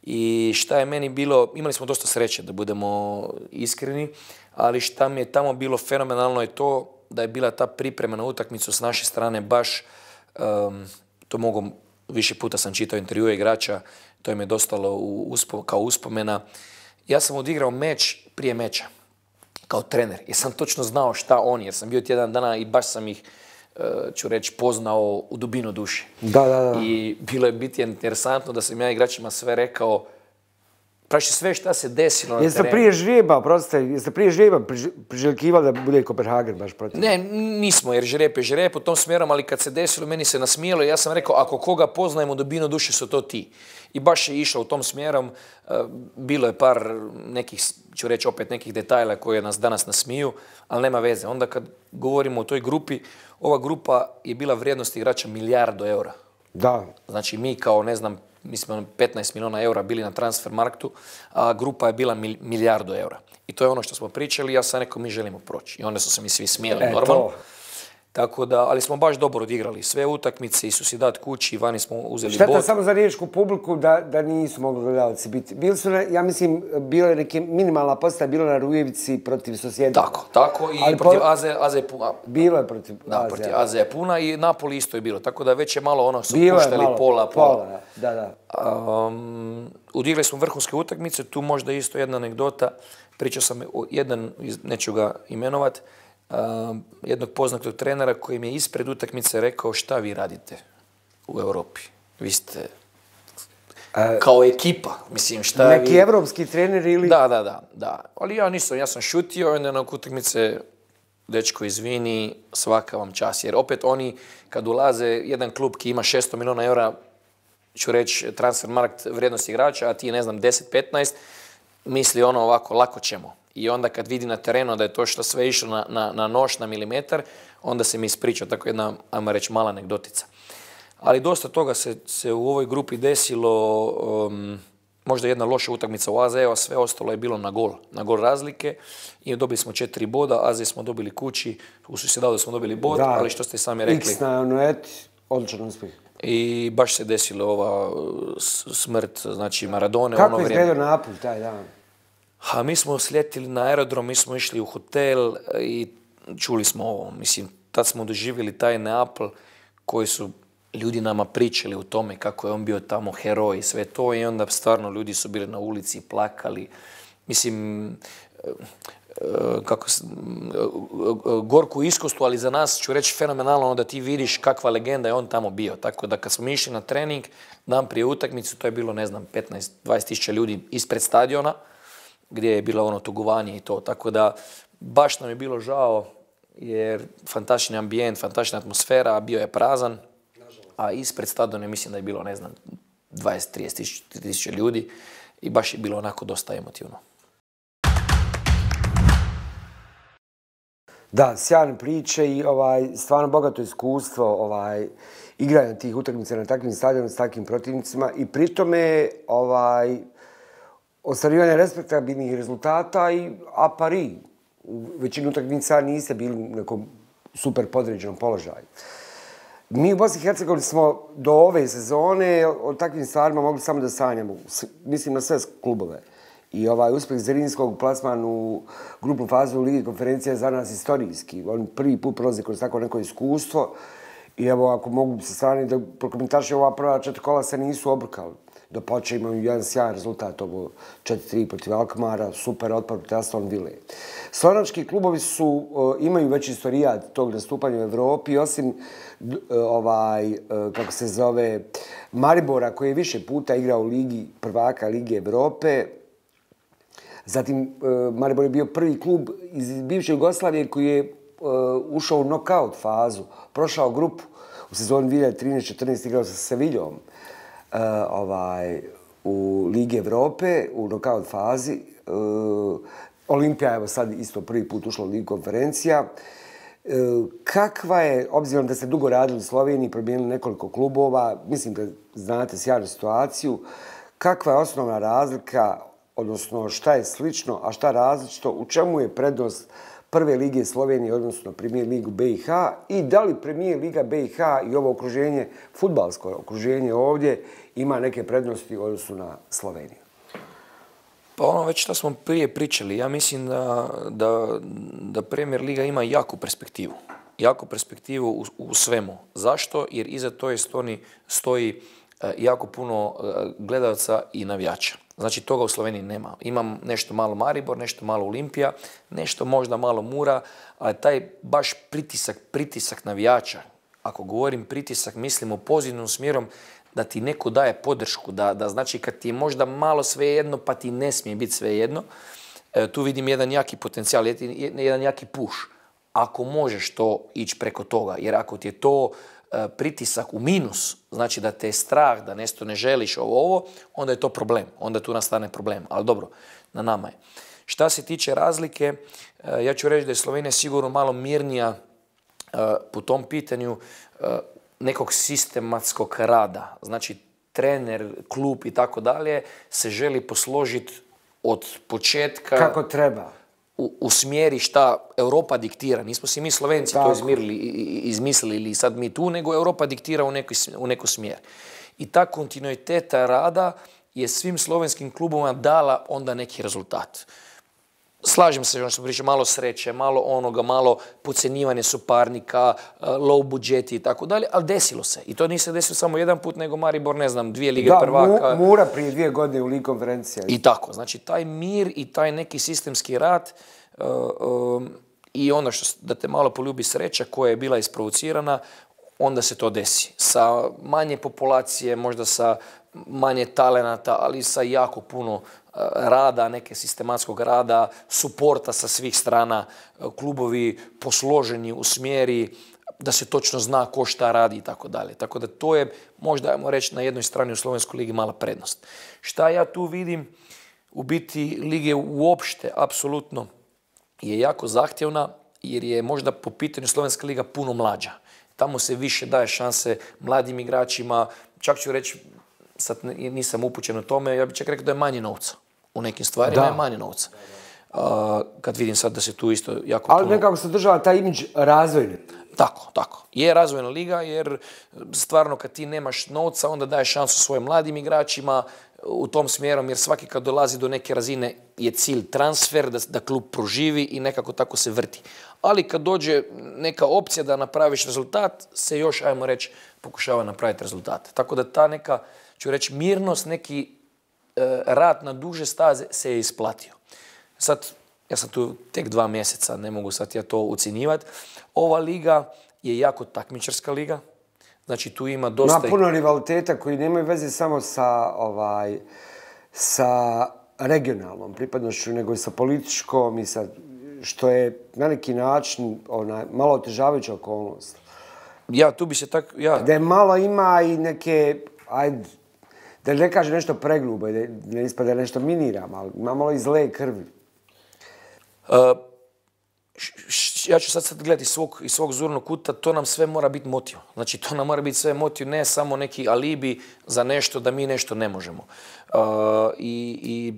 I šta je meni bilo, imali smo dosta sreće, da budemo iskreni, ali šta mi je tamo bilo fenomenalno je to da je bila ta priprema na utakmicu s naše strane baš, to mogu, više puta sam čitao intervjue igrača, to im je dostalo kao uspomena. Ja sam odigrao meč prije meča, kao trener, jer sam točno znao šta oni, jer sam bio tjedan dana i baš sam ih, ću reći, poznao u dubinu duše. Da. I bilo je biti interesantno da sam ja igračima sve rekao, praši sve šta se desilo na terenu. Jeste prije žrijeba priželjkivali da bude Kopenhagen baš protiv? Ne, nismo, jer žrijeb je žrijeb u tom smjerom, ali kad se desilo, meni se nasmijelo i ja sam rekao, ako koga poznajemo u dubinu duše su to ti. I baš je išao u tom smjerom, bilo je par nekih, ću reći opet nekih detajla koje nas danas nasmiju, ali nema veze. Onda kad govorimo o toj grupi, ova grupa je bila vrijednost igrača milijardu eura. Da. Znači mi kao, ne znam, mi smo 15 milijuna eura bili na Transfermarktu, a grupa je bila milijardu eura. I to je ono što smo pričali, ja sam rekao mi želimo proći. I onda su se mi svi smijeli normalno. Tako da, ali smo baš dobro odigrali sve utakmice i Sociedad kući, vani smo uzeli bod. Šteta samo za riječku publiku da nisu mogli gledalci biti. Bili su, ja mislim, bilo je neke minimalna postaja, bilo na Rujevici protiv Sociedada. Tako i protiv AZ Puna. Bilo je protiv AZ. Da, protiv AZ Puna i Napoli isto je bilo. Tako da već je malo ono su puštali pola. Da. Odigrali smo vrhunske utakmice, tu možda isto jedna anegdota. Pričao sam neću ga imenovat, jednog poznatog trenera koji mi je ispred utakmice rekao šta vi radite u Europi. Vi ste kao ekipa, mislim šta vi... Neki evropski trener ili... Da. Ali ja nisam, ja sam šutio i onda na utakmice dečko izvini, svaka vam čast. Jer opet oni kad ulaze, jedan klub ki ima 600 milijuna eura, ću reći Transfermarkt vrijednost igrača, a ti ne znam 10-15, misli ono ovako, lako ćemo. I onda kad vidi na terenu da je to što sve išlo na nož, na milimetar, onda se mi ispričao, tako jedna, ajmo reći, mala anegdotica. Ali dosta toga se u ovoj grupi desilo, možda jedna loša utakmica u AZ-u, a sve ostalo je bilo na gol razlike i dobili smo 4 boda, AZ smo dobili kući, u Sociedadu smo dobili bod, ali što ste sami rekli... X na Noet, odličan uspjeh. I baš se desilo ova smrt, znači Maradone. Kako je izgledao Napolj taj dan? A mi smo sletili na aerodrom, mi smo išli u hotel i čuli smo ovo. Mislim, tad smo doživjeli taj Neapol koji su ljudi nama pričali o tome kako je on bio tamo heroj i sve to i onda stvarno ljudi su bili na ulici i plakali. Mislim, gorku iskustvu, ali za nas ću reći fenomenalno da ti vidiš kakva legenda je on tamo bio. Tako da kad smo išli na trening, dan prije utakmicu, to je bilo, ne znam, 15-20 tisuća ljudi ispred stadiona, gdje je bilo ono tugovanje i to. Tako da baš nam je bilo žao jer fantastični ambijent, fantastična atmosfera, bio je prazan, a ispred stadiona mislim da je bilo, ne znam, 20-30 tisuća ljudi i baš je bilo onako dosta emotivno. Da, sjajne priče i stvarno bogato iskustvo igranja tih utakmica na takvim stadionima s takvim protivnicima i pritome ostvarivanja respektabilnih rezultata a pari. U većini utakmica niste bili u nekom super podređenom položaju. Mi u Bosni i Hercegovini smo do ove sezone o takvim stvarima mogli samo da sanjamo. Mislim na sve klubove. I uspjeh Zrinskog plasman u grupnu fazu Ligi konferencije je za nas istorijski. On prvi put prolazi kroz tako neko iskustvo. I evo, ako mogu se strani da prokomentarišem, ova prva 4 kola se nisu obrkali. Do početka imaju jedan sjajan rezultat, ovo 4-3 protiv Alkmara, super otpor protiv Aston Ville. Slovenački klubovi imaju već istorijat tog nastupanja u Evropi, osim kako se zove, Maribora, koji je više puta igrao u Ligi prvaka Lige Evrope. Zatim, Maribor je bio prvi klub iz bivše Jugoslavije koji je ušao u knockout fazu, prošao grupu u sezoni 2013-14 igrao sa Seviljom u Ligi Evrope u knockout fazi. Olimpija je sad isto prvi put ušla u Ligu konferencija. Kakva je, obzirom da ste dugo radili u Sloveniji, promijenili nekoliko klubova, mislim da znate sjajnu situaciju, kakva je osnovna razlika, odnosno šta je slično, a šta različito, u čemu je prednost prve lige Slovenije, odnosno Premijer ligu BiH, i da li Premijer liga BiH i ovo okruženje, fudbalsko okruženje ovdje, ima neke prednosti u odnosu na Sloveniju? Pa ono već što smo prije pričali, ja mislim da Premier liga ima jaku perspektivu. Jaku perspektivu u svemu. Zašto? Jer iza toje stoji jako puno gledalaca i navijača. Znači, toga u Sloveniji nema. Imam nešto malo Maribor, nešto malo Olimpija, nešto možda malo Mura, ali taj baš pritisak navijača, ako govorim pritisak, mislim u pozitivnom smjerom da ti neko daje podršku, da znači kad ti je možda malo svejedno, pa ti ne smije biti svejedno, tu vidim jedan jaki potencijal, jedan jaki push. Ako možeš to ići preko toga, jer ako ti je to pritisak u minus, znači da te je strah, da nešto ne želiš ovo, onda je to problem. Onda tu nastane problem. Ali dobro, na nama je. Šta se tiče razlike, ja ću reći da je Slovenija sigurno malo mirnija po tom pitanju nekog sistematskog rada. Znači, trener, klub i tako dalje se želi posložiti od početka... Kako treba. U smjeri šta Europa diktira. Nismo si mi Slovenci to izmislili ili sad mi tu, nego Europa diktira u neku smjer. I ta kontinuiteta rada je svim slovenskim klubovima dala onda neki rezultat. Slažem se, ono što pričam, malo sreće, malo onoga, malo podcjenjivanje suparnika, low budžeti i tako dalje, ali desilo se. I to nije se desilo samo jedan put, nego Maribor, ne znam, 2 lige prvaka. Da, Mura prije 2 godine u Ligi konferencija. I tako. Znači, taj mir i taj neki sistemski rad i ono da te malo poljubi sreća koja je bila isprovocirana, onda se to desi. Sa manje populacije, možda sa manje talenata, ali sa jako puno rada, neke sistematskog rada, suporta sa svih strana, klubovi posloženi u smjeri da se točno zna ko šta radi i tako dalje. Tako da to je, možda ajmo reći, na jednoj strani u Slovenskoj ligi mala prednost. Šta ja tu vidim? U biti lige uopšte, apsolutno, je jako zahtjevna jer je možda po pitanju Slovenska liga puno mlađa. Tamo se više daje šanse mladim igračima, čak ću reći, sad nisam upućen u tome, ja bih čak rekao da je manje novca. U nekim stvarima je manje novca. Kad vidim sad da se tu isto jako puno... Ali nekako se država taj imidž razvojni. Tako. Je razvojna liga jer stvarno kad ti nemaš novca onda daješ šansu svojim mladim igračima u tom smjerom jer svaki kad dolazi do neke razine je cilj transfer, da klub proživi i nekako tako se vrti. Ali kad dođe neka opcija da napraviš rezultat, se još, ajmo reći, pokušava napraviti rezultat. Tako da ta neka, ću reći, mirnost, neki rad na duže staze se je isplatio. Sad, ja sam tu tek 2 mjeseca, ne mogu sad ja to ucjenjivati. Ova liga je jako takmičarska liga. Znači, tu ima dosta... Ima puno rivaliteta koji nemaju veze samo sa regionalnom pripadnošću, nego i sa političkom i sa... što je na neki način malo otežavajuća okolnost. Ja, tu bi se tako... Da je malo ima i neke... Da ne kaže nešto pregrubo, da ne ispada nešto miniram, ali ima malo i zle krvi. ja ću sad gledati iz svog zornog kuta, to nam sve mora biti motiv. Znači, to nam mora biti sve motiv, ne samo neki alibi za nešto da mi nešto ne možemo. I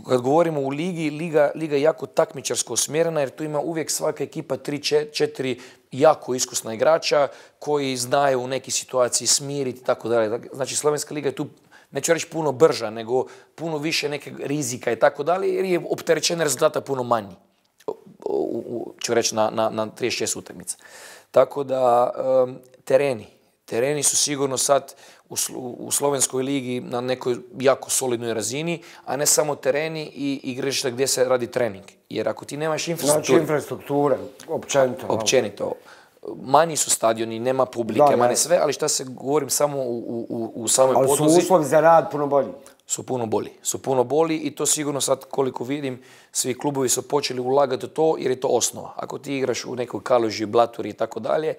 kad govorimo u ligi, liga je jako takmičarsko usmjerena jer tu ima uvijek svaka ekipa 3-4 jako iskusna igrača koji znaju u nekoj situaciji smiriti i tako dalje. Znači, slovenska liga je tu, neću reći puno brža, nego puno više nekog rizika i tako dalje jer je opterećenje rezultata puno manji. Ću reći na 36 utakmica. Tako da tereni su sigurno sad u slovenskoj ligi na nekoj jako solidnoj razini, a ne samo tereni i igrališta gdje se radi trening. Jer ako ti nemaš infrastrukture... Znači infrastrukture, općenito. Općenito. Manji su stadioni, nema publike, manje sve, ali šta se govorim samo u samoj podlozi... Ali su uslovi za rad puno bolji. Su puno bolji i to sigurno sad koliko vidim svi klubovi su počeli ulagati u to jer je to osnova. Ako ti igraš u nekoj Kaluži, Blaturi i tako dalje,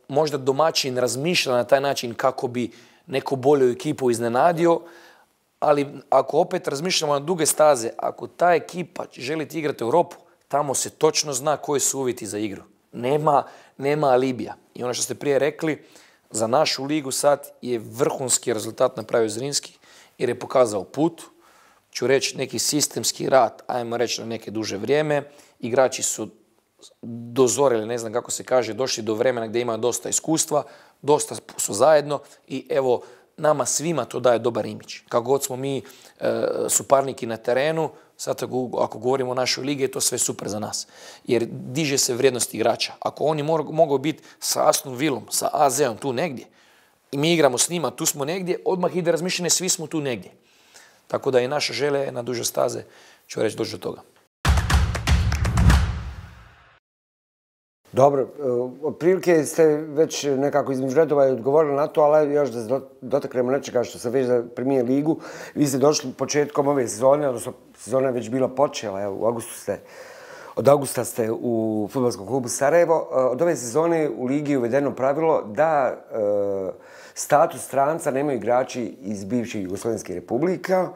možda domaćin razmišlja na taj način kako bi neku bolju ekipu iznenadio, ali ako opet razmišljamo na duge staze, ako ta ekipa želi igrati u Europu, tamo se točno zna koji su uvjeti za igru. Nema alibija. I ono što ste prije rekli, za našu ligu sad je vrhunski rezultat napravio Zrinski jer je pokazao put, ću reći neki sistemski rad, ajmo reći na neke duže vrijeme, igrači su dozorili, ne znam kako se kaže, došli do vremena gdje imaju dosta iskustva, dosta su zajedno i evo, nama svima to daje dobar imidž. Kako god smo mi suparniki na terenu, sad ako govorimo o našoj ligi, je to sve super za nas. Jer diže se vrijednost igrača. Ako oni mogu biti sa Aston Villom, sa AZ-om tu negdje, i mi igramo s njima, tu smo negdje, odmah ide razmišljanje, svi smo tu negdje. Tako da i naša želja je na duže staze, ću reći, doći do toga. Dobro, otprilike ste već nekako između redova odgovorili na to, ali još da dotaknemo nečega što se već za Premier ligu. Vi ste došli početkom ove sezone, odnosno sezona je već bila počela, evo, od augusta ste u fudbalskom klubu Sarajevo. Od ove sezone u ligi je uvedeno pravilo da status stranca nemaju igrači iz bivših Jugoslovenskih republika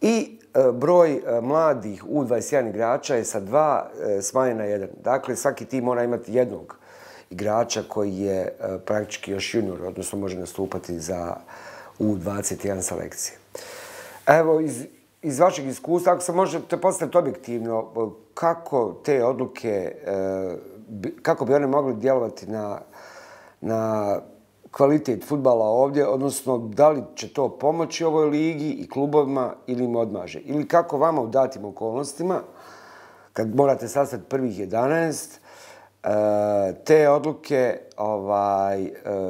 i broj mladih U21 igrača je sa 2 smanjen na 1. Dakle, svaki tim mora imati jednog igrača koji je praktički još junior, odnosno može nastupati za U21 selekcije. Evo, iz vašeg iskustva, ako se možete postaviti objektivno, kako te odluke, kako bi one mogli djelovati na kvalitet fudbala ovdje, odnosno da li će to pomoći ovoj ligi i klubovima ili im odmaže? Ili kako vama u datim okolnostima, kad morate sastaviti prvih 11, te odluke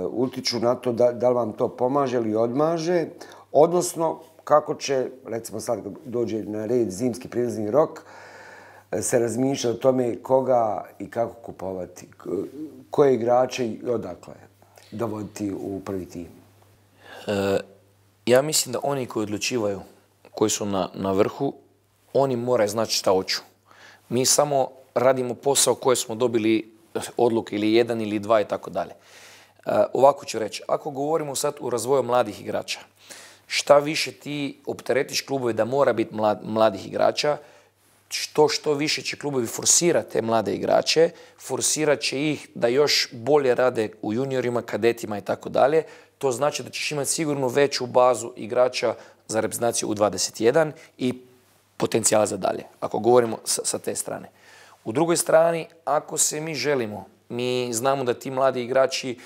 utiču na to da li vam to pomaže ili odmaže, odnosno kako će, recimo sad dođe na red zimski prijelazni rok, se razmišlja o tome koga i kako kupovati, koje igrače i odakle dovoditi u prvi tim? Ja mislim da oni koji odlučivaju, koji su na vrhu, oni moraju znati šta hoću. Mi samo radimo posao koje smo dobili odluke ili 1 ili 2 i tako dalje. Ovako ću reći, ako govorimo sad o razvoju mladih igrača, šta više ti opteretiš klubove da mora biti mladih igrača, što više će klubovi forsirati te mlade igrače, forsirat će ih da još bolje rade u juniorima, kadetima i tako dalje. To znači da ćeš imati sigurno veću bazu igrača za reprezentaciju U21 i potencijala za dalje, ako govorimo sa te strane. U drugoj strani, ako se mi želimo, mi znamo da ti mladi igrači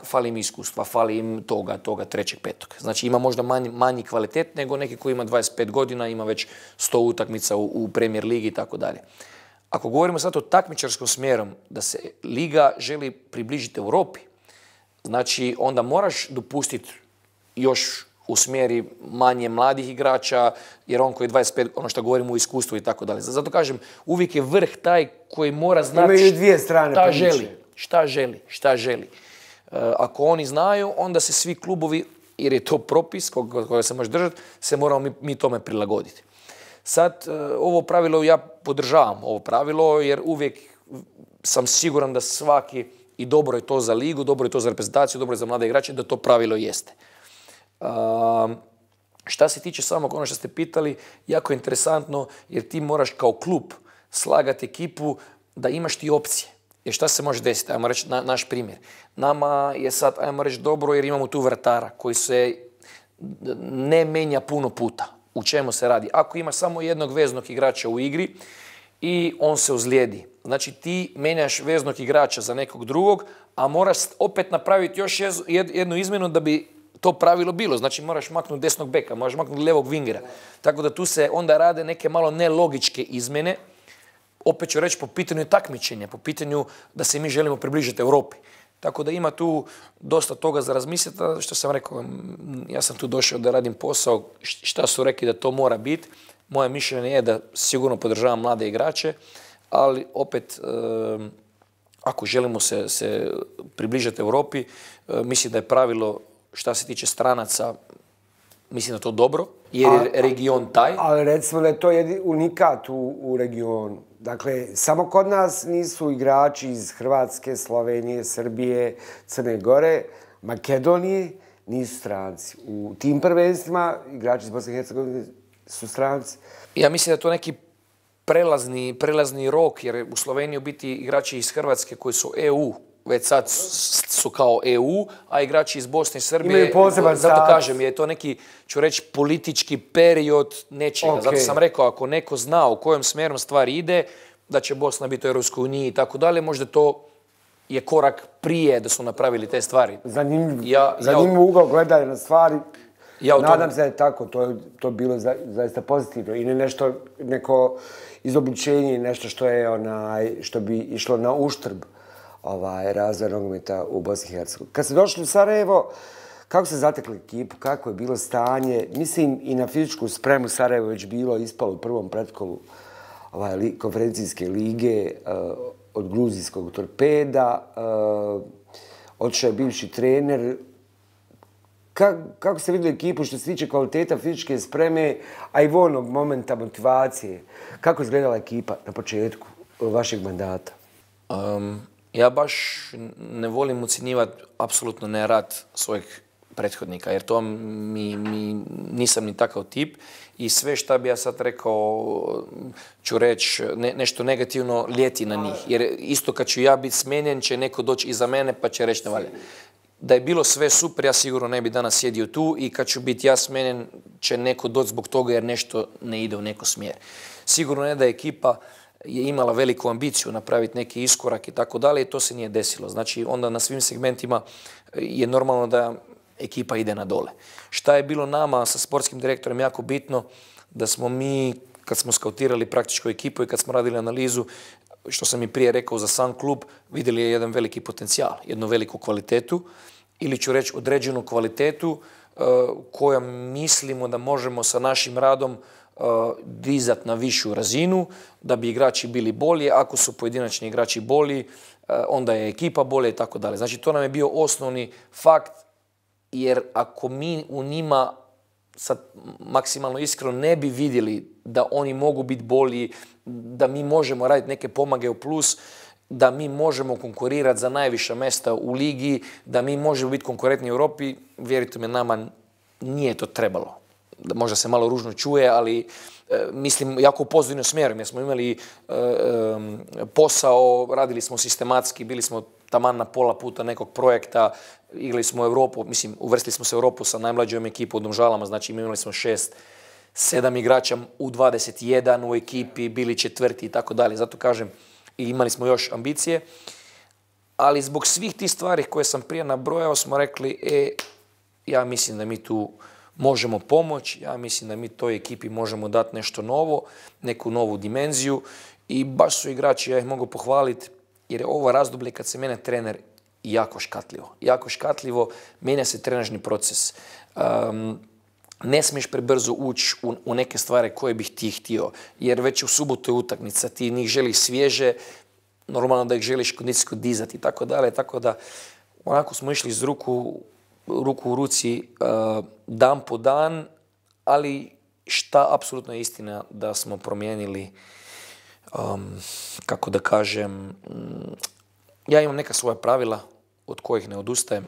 fali im iskustva, fali im toga, trećeg, petog. Znači ima možda manji kvalitet nego neki koji ima 25 godina, ima već 100 utakmica u Premier ligi i tako dalje. Ako govorimo sad o takmičarskom smjerom, da se liga želi približiti Europi, znači onda moraš dopustiti još u smjeri manje mladih igrača, jer on koji je 25, ono što govorimo o iskustvu i tako dalje. Zato kažem, uvijek je vrh taj koji mora znati šta želi. Ako oni znaju, onda se svi klubovi, jer je to propis koga se može držati, se moramo mi tome prilagoditi. Sad, ovo pravilo, ja podržavam ovo pravilo, jer uvijek sam siguran da svaki, i dobro je to za ligu, dobro je to za reprezentaciju, dobro je za mlade igrače, da to pravilo jeste. Šta se tiče samog ono što ste pitali, jako je interesantno, jer ti moraš kao klub slagati ekipu da imaš ti opcije. Jer šta se može desiti? Ajmo reći naš primjer. Nama je sad, ajmo reći, dobro jer imamo tu vratara koji se ne menja puno puta. U čemu se radi? Ako imaš samo jednog veznog igrača u igri i on se ozlijedi, znači ti menjaš veznog igrača za nekog drugog, a moraš opet napraviti još jednu izmjenu da bi to pravilo bilo. Znači moraš maknuti desnog beka, moraš maknuti levog vingera. Tako da tu se onda rade neke malo nelogičke izmjene. Opet ću reći po pitanju takmičenja, po pitanju da se mi želimo približiti Europi. Tako da ima tu dosta toga za razmisliti. Što sam rekao, ja sam tu došao da radim posao, šta su rekli da to mora biti. Moje mišljenje je da sigurno podržavam mlade igrače, ali opet ako želimo se približati Europi, mislim da je pravilo šta se tiče stranaca, mislim da je to dobro, jer je region taj. Ali recimo da je to unikat u regionu. Dakle, samo kod nas nisu igrači iz Hrvatske, Slovenije, Srbije, Crne Gore, Makedonije, nisu stranci. U tim prvenstvima igrači iz Bosne i Hercegovine su stranci. Ja mislim da je to neki prelazni rok, jer u Sloveniji biti igrači iz Hrvatske koji su EU, već sad su kao EU, a igrači iz Bosne i Srbije, imaju poseban status. Zato kažem, je to neki, ću reći, politički period nečega. Okay. Zato sam rekao, ako neko zna u kojem smjerom stvari ide, da će Bosna biti u Europskoj uniji i tako dalje, možda to je korak prije da su napravili te stvari. Zanimljiv ugao gledanja na stvari. Nadam se da je tako, to je bilo zaista pozitivno. I ne neko izobličenje, nešto što bi išlo na uštrb razvoja nogometa u Bosni i Hercegovini. Kad ste došli u Sarajevo, kako ste zatekli ekipu, kako je bilo stanje? Mislim, i na fizičku spremu Sarajevo već bilo ispalo u prvom pretkolu konferencijske lige od gruzijskog Torpeda. Otišao je bivši trener. Kako ste vidjeli ekipu što se tiče kvaliteta fizičke spreme, a i voljnog momenta motivacije? Kako je izgledala ekipa na početku vašeg mandata? Ja baš ne volim ucjenjivati apsolutno ne rad svojih prethodnika, jer to nisam ni takav tip i sve šta bi ja sad rekao, ću reći nešto negativno ljeti na njih. Jer isto kad ću ja biti smijenjen, će neko doći iza mene pa će reći ne valja. Da je bilo sve super, ja sigurno ne bi danas sjedio tu i kad ću biti ja smijenjen, će neko doći zbog toga jer nešto ne ide u neko smjer. Sigurno ne da ekipa je imala veliku ambiciju napraviti neki iskorak i tako dalje i to se nije desilo. Znači onda na svim segmentima je normalno da ekipa ide na dole. Šta je bilo nama sa sportskim direktorom jako bitno, da smo mi, kad smo skautirali praktičku ekipu i kad smo radili analizu, što sam i prije rekao za sam klub, vidjeli je jedan veliki potencijal, jednu veliku kvalitetu ili ću reći određenu kvalitetu koja mislimo da možemo sa našim radom dizati na višu razinu, da bi igrači bili bolji. Ako su pojedinačni igrači bolji, onda je ekipa bolja i tako dalje. Znači, to nam je bio osnovni fakt, jer ako mi u njima, sad maksimalno iskreno, ne bi vidjeli da oni mogu biti bolji, da mi možemo raditi neke pomage u plus, da mi možemo konkurirati za najviša mjesta u ligi, da mi možemo biti konkurentni u Europi, vjerujte me, nama nije to trebalo. Možda se malo ružno čuje, ali mislim jako u pozitivnom smjeru. Jer smo imali posao, radili smo sistematski, bili smo taman na pola puta nekog projekta, igrali smo u Europu, mislim, uvrstili smo se u Europu sa najmlađom ekipom u Domžalama, znači imali smo 6-7 igrača u 21 u ekipi, bili četvrti i tako dalje. Zato kažem, i imali smo još ambicije, ali zbog svih tih stvari koje sam prije nabrojao smo rekli, ja mislim da mi tu možemo pomoći, ja mislim da mi toj ekipi možemo dati nešto novo, neku novu dimenziju i baš su igrači, ja ih mogu pohvaliti, jer je ovo razdoblje kad se mene trener jako škatljivo. Jako škatljivo, mijenja se trenažni proces. Ne smiješ prebrzo ući u neke stvari koje bih ti htio, jer već u subotu je utakmica, ti njih želiš svježe, normalno da ih želiš kondicijsko dizati i tako dalje, tako da onako smo išli iz ruku u ruci dan po dan, ali šta apsolutno je istina da smo promijenili, kako da kažem, ja imam neka svoja pravila od kojih ne odustajem.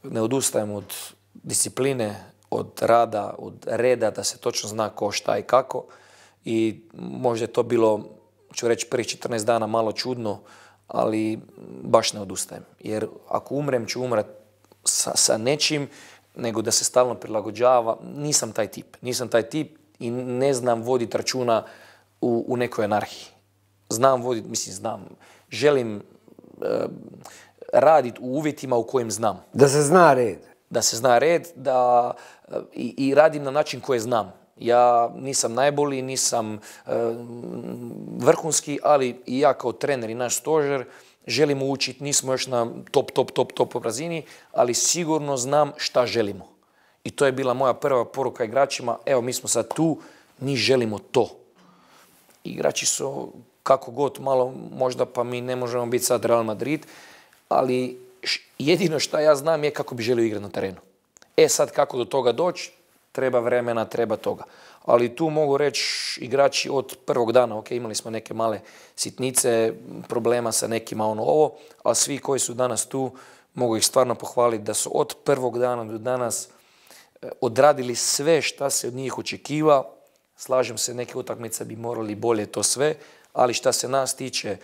Ne odustajem od discipline, od rada, od reda, da se točno zna ko, šta i kako. I možda je to bilo, ću reći, prvih 14 dana malo čudno, ali baš ne odustajem. Jer ako umrem, ću umrat sa nečim, nego da se stalno prilagođava. Nisam taj tip. Nisam taj tip i ne znam voditi računa u nekoj anarhiji. Znam voditi, znam. Želim raditi u uvjetima u kojim znam. Da se zna red. Da se zna red, i radim na način koje znam. Ja nisam najbolji, nisam vrhunski, ali i ja kao trener i naš stožer želimo učiti, nismo još na top razini, ali sigurno znam šta želimo. I to je bila moja prva poruka igračima, evo mi smo sad tu, mi želimo to. Igrači su kako god malo, možda pa mi ne možemo biti sad Real Madrid, ali jedino što ja znam je kako bi želio igrati na terenu. Sad kako do toga doći, treba vremena, treba toga. Ali tu mogu reći igrači od prvog dana, imali smo neke male sitnice, problema sa nekima ovo, ali svi koji su danas tu, mogu ih stvarno pohvaliti da su od prvog dana do danas odradili sve šta se od njih očekiva. Slažem se, neke utakmice bi morali bolje to sve, ali šta se nas tiče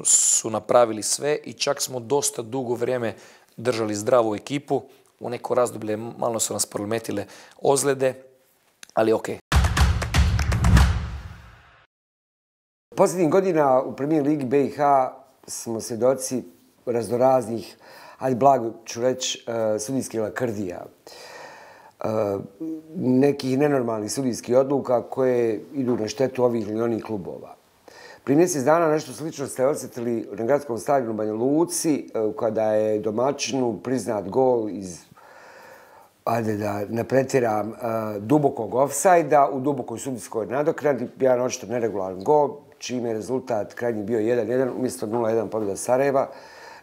su napravili sve i čak smo dosta dugo vrijeme držali zdravu ekipu. U neko razdoblje malo su nas prometile ozljede, ali okej. Posljednjih godina u Premier Ligi BiH smo svjedoci raznoraznih, ali blago ću reći, sudijskih lakrdija. Nekih nenormalnih sudijskih odluka koje idu na štetu ovih ili onih klubova. Prije mjesec dana nešto slično ste osjetili na gradskom stadionu u Banja Luci, kada je domaćinu priznat gol iz, ajde da ne pretjeram, dubokog ofsajda u dubokoj sudijskoj nadoknadi, jedan očito neregularan gol, čime je rezultat krajnji bio 1-1 umjesto 0-1 pobjeda Sarajeva.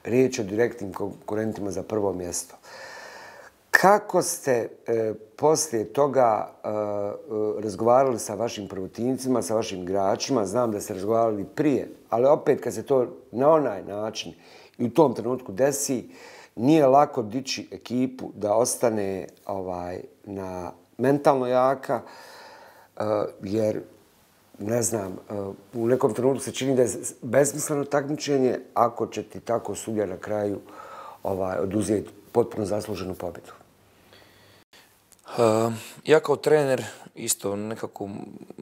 Riječ o direktnim konkurentima za prvo mjesto. Kako ste poslije toga razgovarali sa vašim prvotimcima, sa vašim igračima? Znam da ste razgovarali prije, ali opet kad se to na onaj način i u tom trenutku desi, nije lako dići ekipu da ostane na mentalno jaka, jer ne znam, u nekom trenutku se čini da je besmisleno takmičenje ako će ti tako sudija na kraju oduzeti potpuno zasluženu pobjedu. Ja kao trener, isto nekako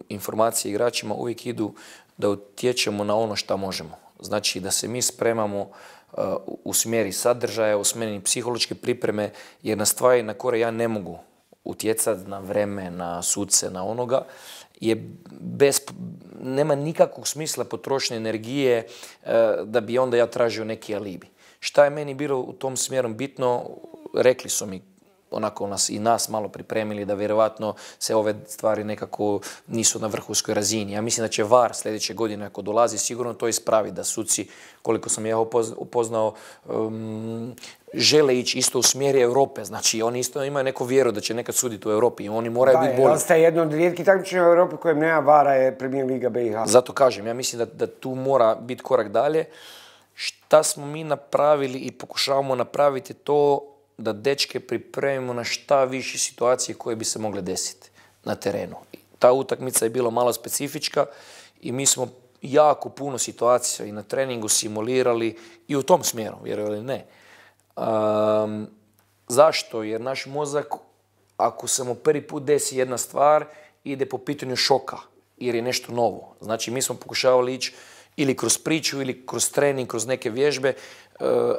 informacije igračima uvijek idu da utječemo na ono što možemo. Znači da se mi spremamo u smjeri sadržaja, u smjeri psihološke pripreme, jer na stvari na koje ja ne mogu utjecati, na vreme, na suce, na onoga, nema nikakvog smisla potrošnje energije da bi onda ja tražio neki alibi. Šta je meni bilo u tom smjeru bitno, rekli su mi onako nas malo pripremili da vjerovatno se ove stvari nekako nisu na vrhunskoj razini. Ja mislim da će VAR sljedeće godine ako dolazi sigurno to ispraviti, da suci, koliko sam ja upoznao, žele ići isto u smjeri Europe. Znači oni isto imaju neku vjeru da će nekad suditi u Europi i oni moraju biti bolji. Ostaje jedno od rijetkih takmičenja u Europi kojem nema VAR-a je Premier Liga BiH. Zato kažem, ja mislim da tu mora biti korak dalje. Šta smo mi napravili i pokušavamo napraviti to da dečke pripremimo na šta više situacije koje bi se mogle desiti na terenu. Ta utakmica je bila malo specifička i mi smo jako puno situacija i na treningu simulirali i u tom smjeru, vjerovali ili ne. Zašto? Jer naš mozak, ako se mu prvi put desi jedna stvar, ide po pitanju šoka, jer je nešto novo. Znači, mi smo pokušavali ići ili kroz priču, ili kroz trening, kroz neke vježbe,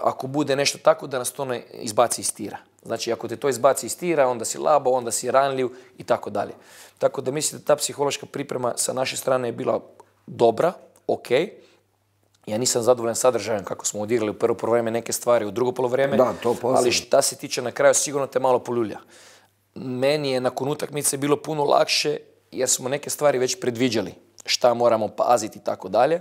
ako bude nešto tako da nas to ne izbaci iz tira. Znači, ako te to izbaci iz tira, onda si labo, onda si ranljiv i tako dalje. Tako da mislim da ta psihološka priprema sa naše strane je bila dobra, ok. Ja nisam zadovoljan sadržajem kako smo odigrali u prvo polovreme neke stvari, u drugo polovreme, ali šta se tiče na kraju sigurno te malo poljulja. Meni je nakon utakmice bilo puno lakše jer smo neke stvari već predviđali, šta moramo paziti i tako dalje.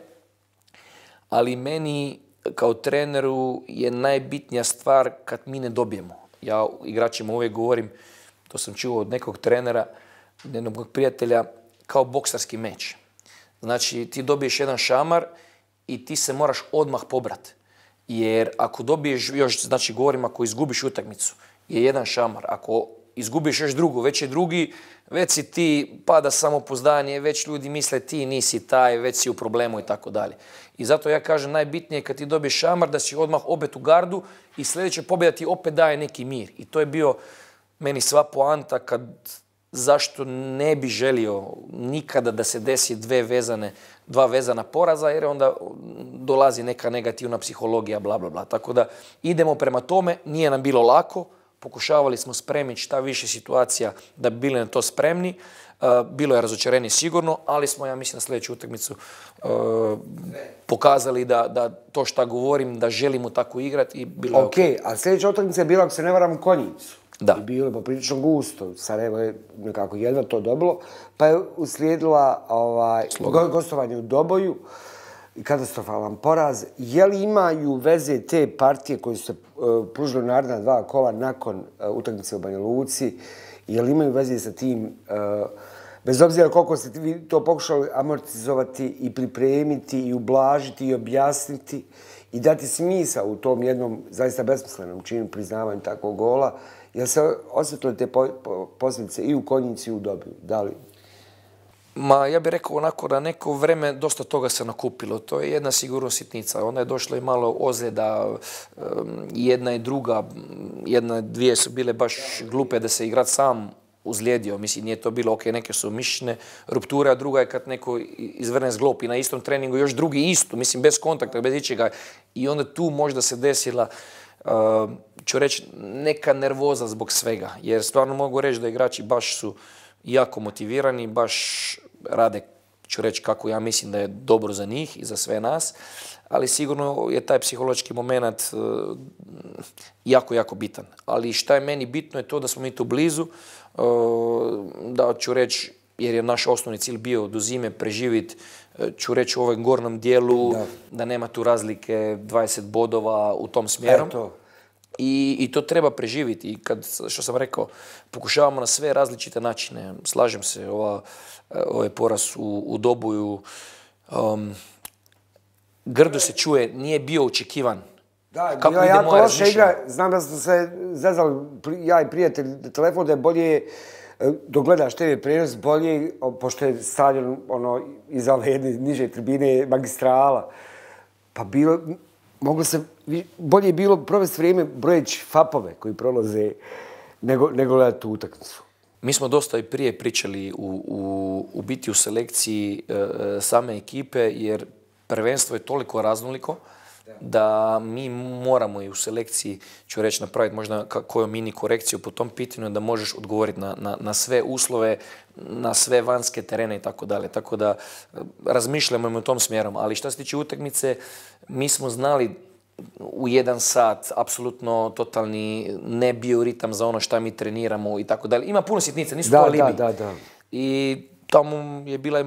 Ali meni kao treneru je najbitnija stvar kad mi ne dobijemo. Ja igračima uvijek govorim, to sam čuo od nekog trenera, jednog prijatelja, kao boksarski meč. Znači, ti dobiješ jedan šamar i ti se moraš odmah pobrati. Jer ako dobiješ još, znači govorim ako izgubiš utakmicu, je jedan šamar. Ako izgubiš još drugu, već je drugi, već si ti, pada samopouzdanje, već ljudi misle ti nisi taj, već si u problemu i tako dalje. I zato ja kažem najbitnije kad ti dobiješ šamar da si odmah opet u gardu i sljedeća pobjeda ti opet daje neki mir. I to je bio meni sva poanta kad zašto ne bi želio nikada da se desi dva vezana poraza, jer onda dolazi neka negativna psihologija, bla, bla, bla. Tako da idemo prema tome, nije nam bilo lako, pokušavali smo spremiti šta više situacija da bi bili na to spremni. Bilo je razočarenje sigurno, ali smo, ja mislim, na sljedeću utakmicu pokazali da to šta govorim, da želimo tako igrati i bilo je okej. A sljedeća utakmica je bila, ako se ne varam, u Konjicu. Da. I bilo je poprilično gusto. Sarajevo je nekako jedva to dobilo, pa je uslijedila gostovanje u Doboju i katastrofalan poraz. Je li imaju veze te partije koje su se pružile u naredna 2 kola nakon utakmice u Banja Luci? Je li imaju veze sa tim, bez obzira koliko ste vi to pokušali amortizovati i pripremiti i ublažiti i objasniti i dati smisao u tom jednom zaista besmislenom činu priznavanju takvog gola? Jel se osjetile te posljedice i u Konjici i u Dobiju? Da li? Ma, ja bih rekao onako da neko vreme dosta toga se nakupilo. To je jedna sigurno sitnica. Onda je došlo i malo ozljeda, jedna i druga. Dvije su bile baš glupe da se igrač sam uzlijedio. Mislim, nije to bilo, ok, neke su mišićne rupture, a druga je kad neko izvrne zglop i na istom treningu još drugi isto. Mislim, bez kontakta, bez ičega. I onda tu možda se desila ću reći, neka nervoza zbog svega. Jer stvarno mogu reći da igrači baš su jako motivirani, baš rade, ću reći, kako ja mislim da je dobro za njih i za sve nas, ali sigurno je taj psihološki moment jako, jako bitan. Ali šta je meni bitno je to da smo mi tu blizu, da ću reći, jer je naš osnovni cilj bio do zime preživjeti, ću reći, u ovom gornjem dijelu, da nema tu razlike 20 bodova u tom smjeru. I to treba preživjeti. I kad, što sam rekao, pokušavamo na sve različite načine. Slažem se, ovaj poraz u Doboju, grdo se čuje, nije bio očekivan. Da, bila je jako loša igra. Znam da smo se zezali, ja i prijatelj, telefon da je bolje, dok gledaš TV prenos, bolje, pošto je stadion iza ove jedne niže tribine magistrala. Pa bilo, bolje je bilo provesti vrijeme brojeći fapove koji prolaze nego gledati tu utakmicu. Mi smo dosta i prije pričali u biti u selekciji same ekipe, jer prvenstvo je toliko raznoliko da mi moramo i u selekciji, ću reći, napraviti možda koju mini korekciju po tom pitanju da možeš odgovoriti na sve uslove, na sve vanjske terene i tako dalje. Tako da razmišljamo u tom smjerom. Ali što se tiče utakmice, mi smo znali u 1 sat, apsolutno totalni ne bio ritam za ono što mi treniramo i tako dalje. Ima puno sitnica, nisu to alibi. Da. I tamo je bila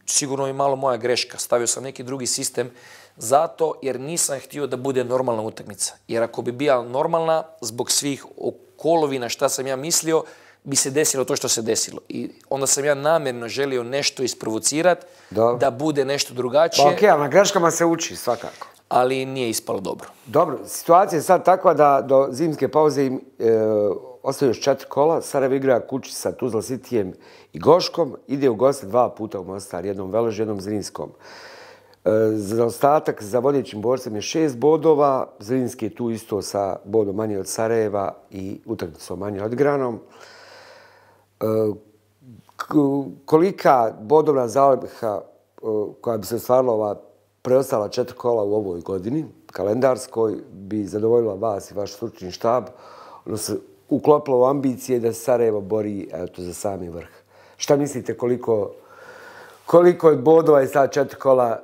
sigurno i malo moja greška. Stavio sam neki drugi sistem zato jer nisam htio da bude normalna utakmica. Jer ako bi bila normalna, zbog svih okolovina šta sam ja mislio, bi se desilo to što se desilo. I onda sam ja namjerno želio nešto isprovocirati, da bude nešto drugačije. Pa okej, ali na greškama se uči svakako. Ali nije ispalo dobro. Dobro, situacija je sad takva da do zimske pauze im ostaju još 4 kola. Sarajevo igra kući sa Tuzla Cityjem i Goškom. Ide u goste 2 puta u Mostar, jednom Velož, jednom Zrinskom. Zaostatak za vodećim borcem je 6 bodova. Zrinski je tu isto sa bodom manje od Sarajeva i utakmicom manje od Granom. Kolika bodovna zaliha koja bi se ostvarila ova preostala 4 kola u ovoj godini, kalendarskoj, bi zadovoljila vas i vaš stručni štab, ono se uklopilo u ambicije da se Sarajevo bori za sami vrh. Šta mislite koliko je bodova i sad 4 kola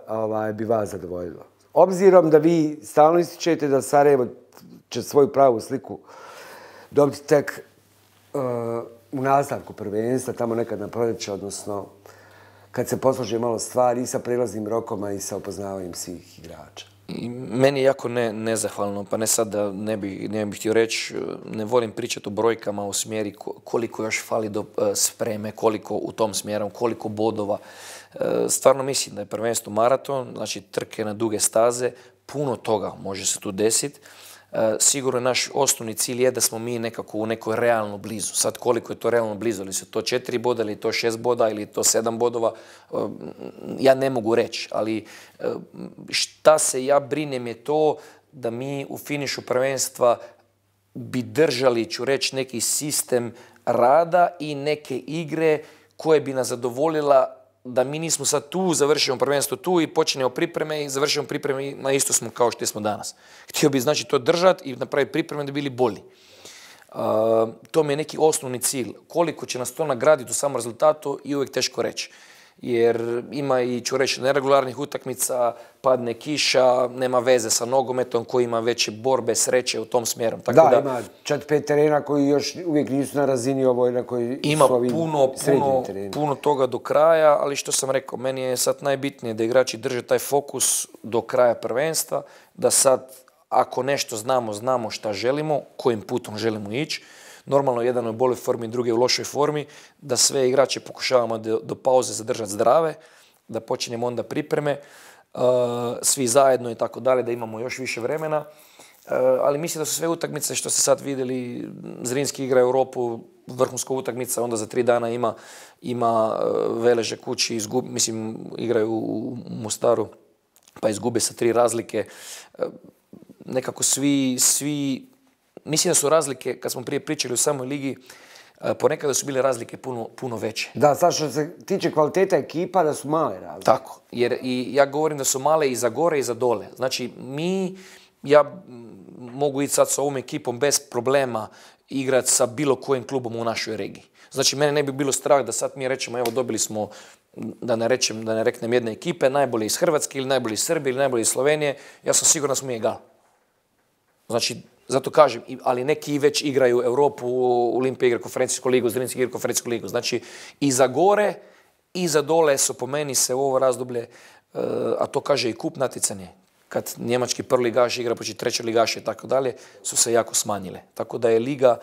bi vas zadovoljilo? Obzirom da vi stalno ističete da Sarajevo će svoju pravu sliku dobiti tek u nastavku prvenstva, tamo nekad na proljeće, odnosno kad se poslože malo stvari i sa prelaznim rokoma i sa upoznavanjem svih igrača. Meni je jako nezahvalno, pa ne sad da ne bih htio reći, ne volim pričati o brojkama u smjeri koliko još fali do spreme, koliko u tom smjeru, koliko bodova. Stvarno mislim da je prvenstvo maraton, znači trke na duge staze, puno toga može se tu desiti. Sigurno naš osnovni cilj je da smo mi nekako u nekoj realno blizu. Sad koliko je to realno blizu, ili su to 4 boda, ili je to 6 boda, ili je to 7 bodova, ja ne mogu reći. Ali šta se ja brinem je to da mi u finišu prvenstva bi držali, ću reći, neki sistem rada i neke igre koje bi nas zadovoljila da mi nismo sad tu, završimo prvenstvo tu i počinemo pripreme i završimo pripreme na isto smo kao što smo danas. Htio bi znači to držati i napraviti pripreme da bi bili bolji. To mi je neki osnovni cilj. Koliko će nas to nagraditi u samom rezultatu i uvijek teško reći. Jer ima i, ću reći, neregularnih utakmica, padne kiša, nema veze sa nogometom koji ima veće borbe, sreće u tom smjeru. Tako da, ima 4-5 terena koji još uvijek nisu na razini ovoj na koji ima su ovi srednji tereni. Ima puno toga do kraja, ali što sam rekao, meni je sad najbitnije da igrači drže taj fokus do kraja prvenstva, da sad ako nešto znamo šta želimo, kojim putom želimo ići. Normalno, jedan je u boljoj formi, drugi je u lošoj formi, da sve igrače pokušavamo do pauze zadržati zdrave, da počinjemo onda pripreme, svi zajedno i tako dalje, da imamo još više vremena. Ali mislim da su sve utakmice što ste sad vidjeli, Zrinski igra Europu, vrhunska utakmica, onda za 3 dana ima Veleže kući, mislim, igraju u Mostaru, pa izgube sa 3 razlike. Nekako svi mislim da su razlike, kad smo prije pričali u samoj ligi, ponekada su bile razlike puno veće. Da, sad što se tiče kvaliteta ekipa, da su male razlike. Tako, jer i ja govorim da su male i za gore i za dole. Znači, ja mogu ići sad sa ovom ekipom bez problema igrati sa bilo kojim klubom u našoj regiji. Znači, mene ne bi bilo strah da sad mi rečemo, evo, dobili smo, da ne reknem jedne ekipe, najbolje iz Hrvatske ili najbolje iz Srbije ili najbolje iz Slovenije, ja sam siguran da smo mi egal. Znači, zato kažem, ali neki već igraju Europu, Olimpija igra konferencijsku ligu, Zrinski igra konferencijsku ligu. Znači, i za gore i za dole su po meni se u ovo razdoblje, a to kaže i kup natjecanje, kad njemački prvoligaš igra protiv trećoligaša i tako dalje, su se jako smanjile. Tako da je liga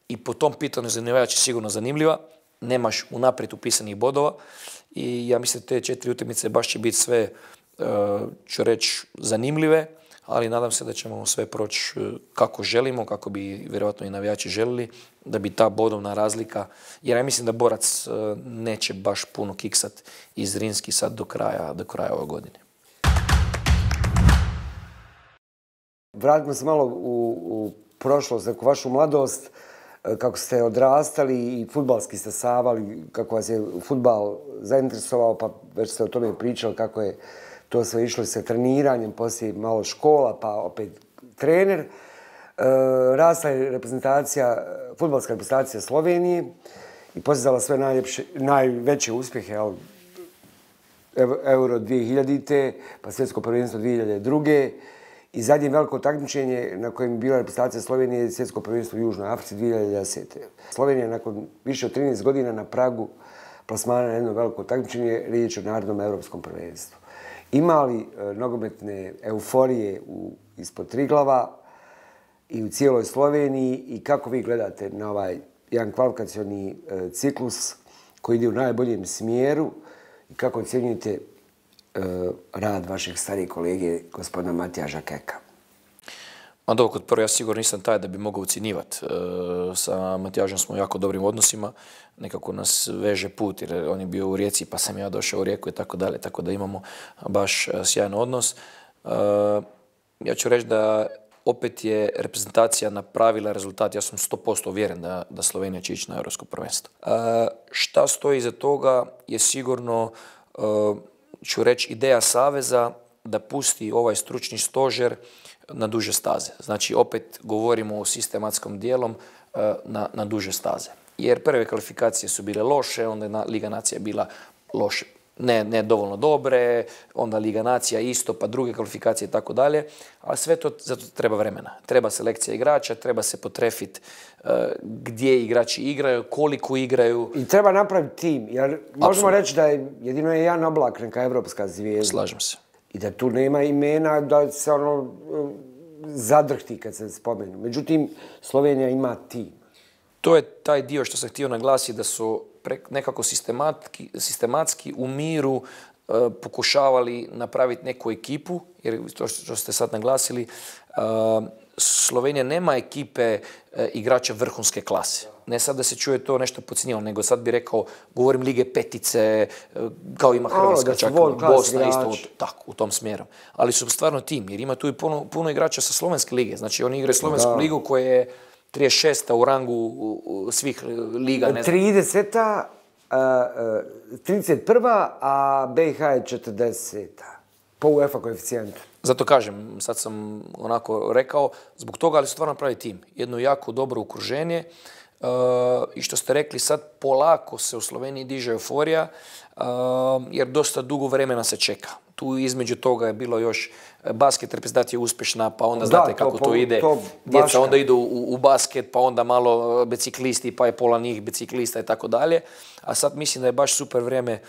i po tom pitanju za navijače sigurno zanimljiva. Nemaš unaprijed upisanih bodova i ja mislim da te 4 utakmice baš će biti sve, ću reći, zanimljive, ali nadam se da ćemo sve proći kako želimo, kako bi vjerojatno i navijači želili, da bi ta bodovna razlika, jer ja mislim da Borac neće baš puno kiksat iz Zrinski sad do kraja ove godine. Vratimo se malo u prošlost, neku vašu mladost, kako ste odrastali i fudbalski ste savali, kako vas je fudbal zainteresovao, pa već ste o tome pričali, kako je to sve išlo sa treniranjem, poslije malo škola, pa opet trener. Rasla je reprezentacija, fudbalska reprezentacija Slovenije i postizala sve najveće uspjehe, Euro 2000. pa svjetsko prvenstvo 2002. I zadnje veliko takmičenje na kojem je bila reprezentacija Slovenije je svjetsko prvenstvo u Južnoj Africi 2010. Slovenija je nakon više od 13 godina na pragu plasmana na jedno veliko takmičenje, riječ o narodnom evropskom prvenstvu. Ima li nogometne euforije ispod Triglava i u cijeloj Sloveniji i kako vi gledate na ovaj jedan kvalifikacioni ciklus koji ide u najboljem smjeru i kako ocjenjujete rad vašeg starijeg kolege, gospodina Matijaža Keka? Ma dobro, kod prvo ja sigurno nisam taj da bi mogao ocjenjivati. Sa Matijažom smo u jako dobrim odnosima, nekako nas veže put jer on je bio u Rijeci pa sam ja došao u Rijeku i tako dalje, tako da imamo baš sjajan odnos. Ja ću reći da opet je reprezentacija napravila rezultat, ja sam 100% uvjeren da Slovenija će ići na Europsko prvenstvo. Šta stoji iza toga je sigurno, ću reći, ideja Saveza da pusti ovaj stručni stožer na duže staze. Znači, opet govorimo o sistematskom dijelom na duže staze. Jer prve kvalifikacije su bile loše, onda je Liga nacija bila loše, ne dovoljno dobre, onda Liga nacija isto, pa druge kvalifikacije i tako dalje. Ali sve to, zato treba vremena. Treba selekcija igrača, treba se potrefiti gdje igrači igraju, koliko igraju. I treba napraviti tim, jer možemo reći da je jedino Jan Oblak neka evropska zvijezda. Slažem se. I da tu nema imena da se ono zadrhti kad se spomenu. Međutim, Slovenija ima tim. To je taj dio što sam htio naglasiti, da su nekako sistematski u miru pokušavali napraviti neku ekipu, jer to što ste sad naglasili, Slovenija nema ekipe igrača vrhunske klase. Ne sad da se čuje to nešto podcjenjivano, nego sad bi rekao, govorim lige petice, kao ima Hrvatska, čak Bosna isto tako, u tom smjeru. Ali su stvarno tim, jer ima tu i puno igrača sa slovenske lige. Znači oni igraju slovensku ligu koja je 36. u rangu svih liga. 30. 31. a BiH je 40. po UEFA koeficijentu. Zato kažem, sad sam onako rekao, zbog toga, ali su stvarno pravi tim. Jedno jako dobro okruženje i što ste rekli, sad polako se u Sloveniji diže euforija, jer dosta dugo vremena se čeka. Tu između toga je bilo još basket reprezentacija uspješna, pa onda znate kako to ide. Djeca onda idu u basket, pa onda malo biciklisti, pa je pola njih biciklista i tako dalje. A sad mislim da je baš super vrijeme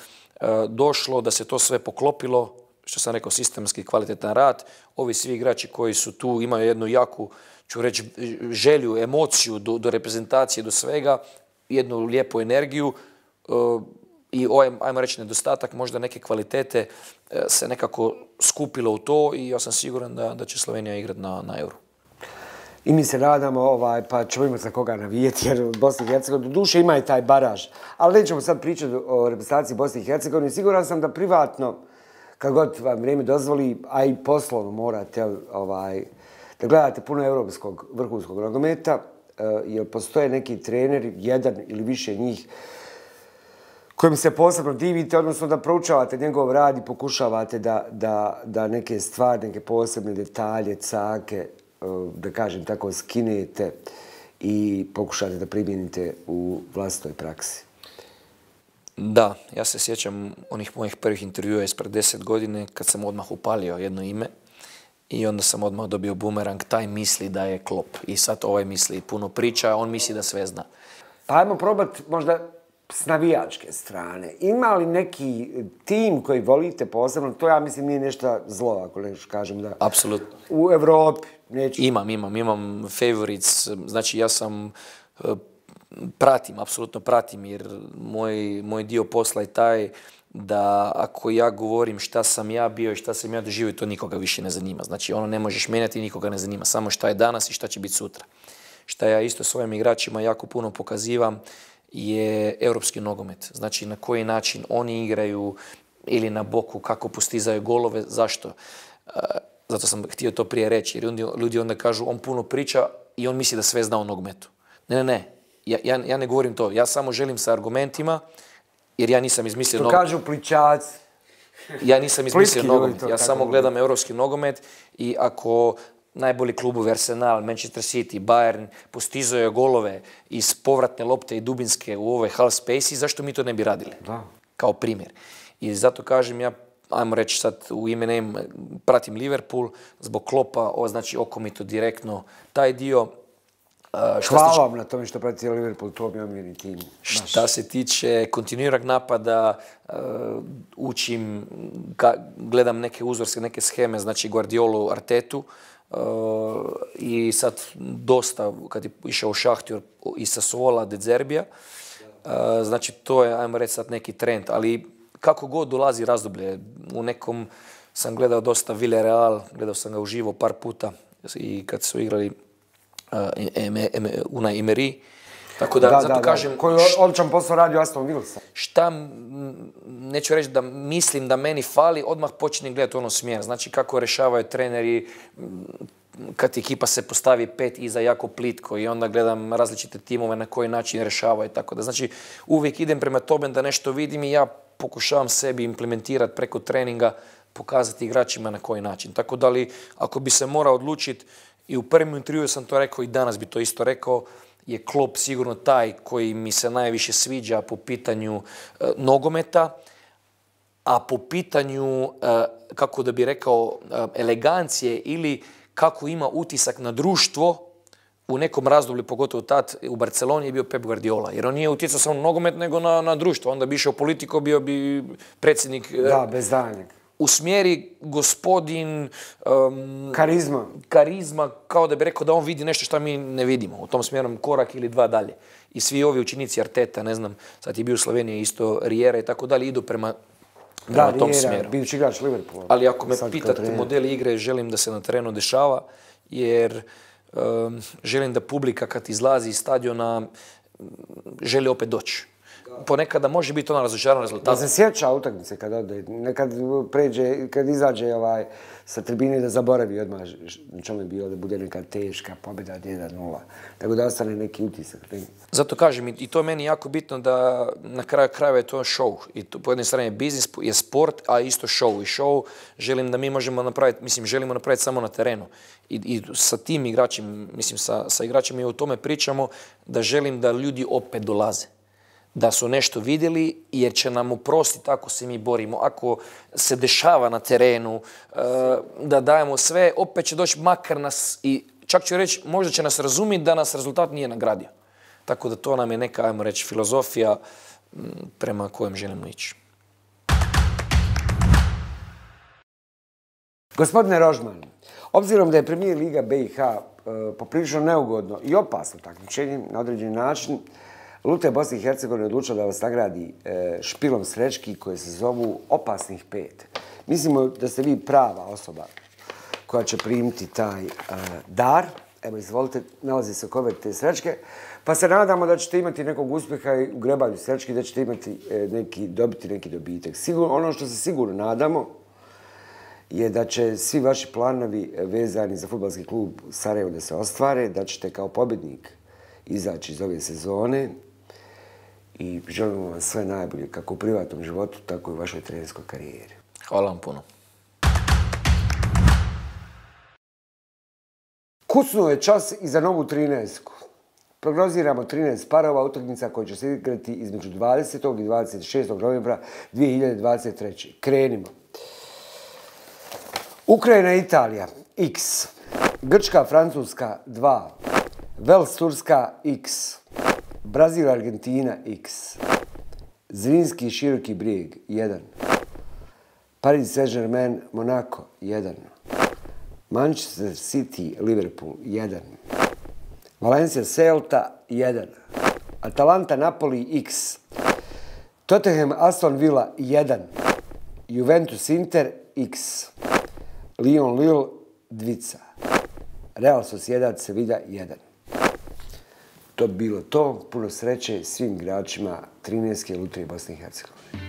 došlo, da se to sve poklopilo, što sam rekao, sistemski kvalitetan rad. Ovi svi igrači koji su tu imaju jednu jaku, ću reći, želju, emociju do reprezentacije, do svega, jednu lijepu energiju i ovaj, ajmo reći, nedostatak možda neke kvalitete se nekako skupilo u to i ja sam siguran da će Slovenija igrati na Euro. I mi se nadamo, pa ćemo imati za koga navijeti, jer u Bosni i Hercegovini duše ima i taj baraž. Ali nećemo sad pričati o reprezentaciji Bosni i Hercegovini. Siguran sam da privatno, kad god vam vrijeme dozvoli, a i poslovno morate da gledate puno europskog vrhunskog nogometa, jer postoje neki treneri, jedan ili više njih, kojim se posebno divite, odnosno da proučavate njegov rad i pokušavate da neke stvari, neke posebne detalje, cake, da kažem tako, skinete i pokušate da primijenite u vlastitoj praksi. Da, ja se sjećam onih mojih prvih intervjua ispred 10 godine kad sam odmah upalio jedno ime i onda sam odmah dobio bumerang, taj misli da je Klopp i sad ovaj misli puno priča, on misli da sve zna. Pa ajmo probati možda s navijačke strane. Ima li neki tim koji volite posebno? To ja mislim nije nešto zlo, ako nešto kažem da... Apsolutno. U Evropi neću... Imam favorites, znači ja sam... apsolutno pratim, jer moj dio posla je taj da ako ja govorim šta sam ja bio i šta sam ja doživio, to nikoga više ne zanima. Znači ono ne možeš mijenjati i nikoga ne zanima, samo šta je danas i šta će biti sutra. Šta ja isto svojim igračima jako puno pokazivam je europski nogomet. Znači na koji način oni igraju ili na boku, kako postizaju golove, zašto? Zato sam htio to prije reći, jer ljudi onda kažu on puno priča i on misli da sve zna o nogometu. Ne. Ja ne govorim to. Ja samo želim sa argumentima, jer ja nisam izmislio nogomet. To kažu pličaci. Ja nisam izmislio nogomet. Ja samo gledam europski nogomet i ako najbolji klubovi Arsenal, Manchester City, Bayern postizaju golove iz povratne lopte i dubinske u ove half space, zašto mi to ne bi radili? Da. Kao primjer. I zato kažem ja, ajmo reći sad u ime pratim Liverpool zbog Kloppa, znači oko mi to direktno taj dio. Hvala vam na tome što pratite Liverpool, to mi omiljeni tim. Šta se tiče kontinuiranog napada, učim, gledam neke uzorske, neke scheme, znači Guardiolu, Artetu, i sad dosta, kad je išao u Šahtjor i Sassuola, De Zerbija, znači to je, ajmo reći sad, neki trend, ali kako god dolazi razdoblje, u nekom sam gledao dosta Villarreal, gledao sam ga uživo par puta i kad su igrali Unai Emery. Tako da, zato kažem... Koji odličan posao radi u Aston Villasa. Šta, neću reći da mislim da meni fali, odmah počinjem gledati ono smjer. Znači kako rešavaju treneri, kad ekipa se postavi 5 iza jako plitko i onda gledam različite timove na koji način rešavaju. Tako da, znači, uvijek idem prema tome da nešto vidim i ja pokušavam sebi implementirati preko treninga, pokazati igračima na koji način. Tako da li, ako bi se morao odlučiti, i u prvom intervjuu sam to rekao i danas bi to isto rekao, je Klopp sigurno taj koji mi se najviše sviđa po pitanju nogometa, a po pitanju, kako da bi rekao, elegancije ili kako ima utisak na društvo, u nekom razdoblju, pogotovo tad u Barceloni, je bio Pep Guardiola. Jer on nije utjecao samo na nogomet, nego na društvo. Onda bi išao politiko, bio bi predsjednik... Da, bez daljnjeg. U smjeri gospodin... Karizma, kao da bi rekao da on vidi nešto što mi ne vidimo. U tom smjeru korak ili dva dalje. I svi ovi učenici Arteta, ne znam, sad je bio u Sloveniji isto, Riera i tako dalje, idu prema tom smjeru. Da, bivši igrač Liverpoola. Ali ako me pitate model igre, želim da se na terenu dešava, jer želim da publika kad izlazi iz stadiona želi opet doći. Ponekada može biti ona razočaran rezultat. Da se sjeća utakmice kad ode, nekad pređe, kad izađe sa tribine da zaboravi odmah na čemu je bilo, da bude neka teška pobjeda 1-0. Tako da ostane neki utisak. Zato kažem, i to je meni jako bitno da na kraju krajeva je to show. I to, po jednoj strani je biznis, je sport, a isto show. I show želim da mi možemo napraviti, mislim, želimo napraviti samo na terenu. I sa tim igračima, mislim, sa igračima i o tome pričamo, da želim da ljudi opet dolaze. Da su nešto vidjeli, jer će nam oprostiti ako se mi borimo. Ako se dešava na terenu, da dajemo sve, opet će doći makar nas i čak ću reći, možda će nas razumjeti da nas rezultat nije nagradio. Tako da to nam je neka, ajmo reći, filozofija prema kojem želimo ići. Gospodine Rožman, obzirom da je Premijer Liga BiH poprilično neugodno i opasno takmičenje na određeni način, Lutrija Bosne i Hercegovine odlučila da vas nagradi špilom srećki koje se zovu Opasnih 5. Mislimo da ste vi prava osoba koja će primiti taj dar. Evo, izvolite, nalazi se kovert te srećke. Pa se nadamo da ćete imati nekog uspjeha i u grebanju srećki, da ćete dobiti neki dobitak. Ono što se sigurno nadamo je da će svi vaši planovi vezani za fudbalski klub Sarajevo da se ostvare, da ćete kao pobjednik izaći iz ove sezone i želimo vam sve najbolje kako u privatnom životu, tako i u vašoj trenerskoj karijeri. Hvala vam puno. Kucnuo je čas i za novu 13-ku. Prognoziramo 13 parova utakmica koje će se igrati između 20. i 26. novembra 2023. Krenimo. Ukrajina i Italija X. Grčka, Francuska 2. Vels, Turska X. Brazil, Argentina X. Zrinski i Široki Brijeg 1. Paris Saint-Germain, Monaco 1. Manchester City, Liverpool 1. Valencia, Celta 1. Atalanta, Napoli X. Tottenham, Aston Villa 1. Juventus, Inter X. Lyon, Lille 2. Real Sociedad, Sevilla 1. To bi bilo to. Puno sreće svim igračima 13. Lutrije Bosne i Hercegovine.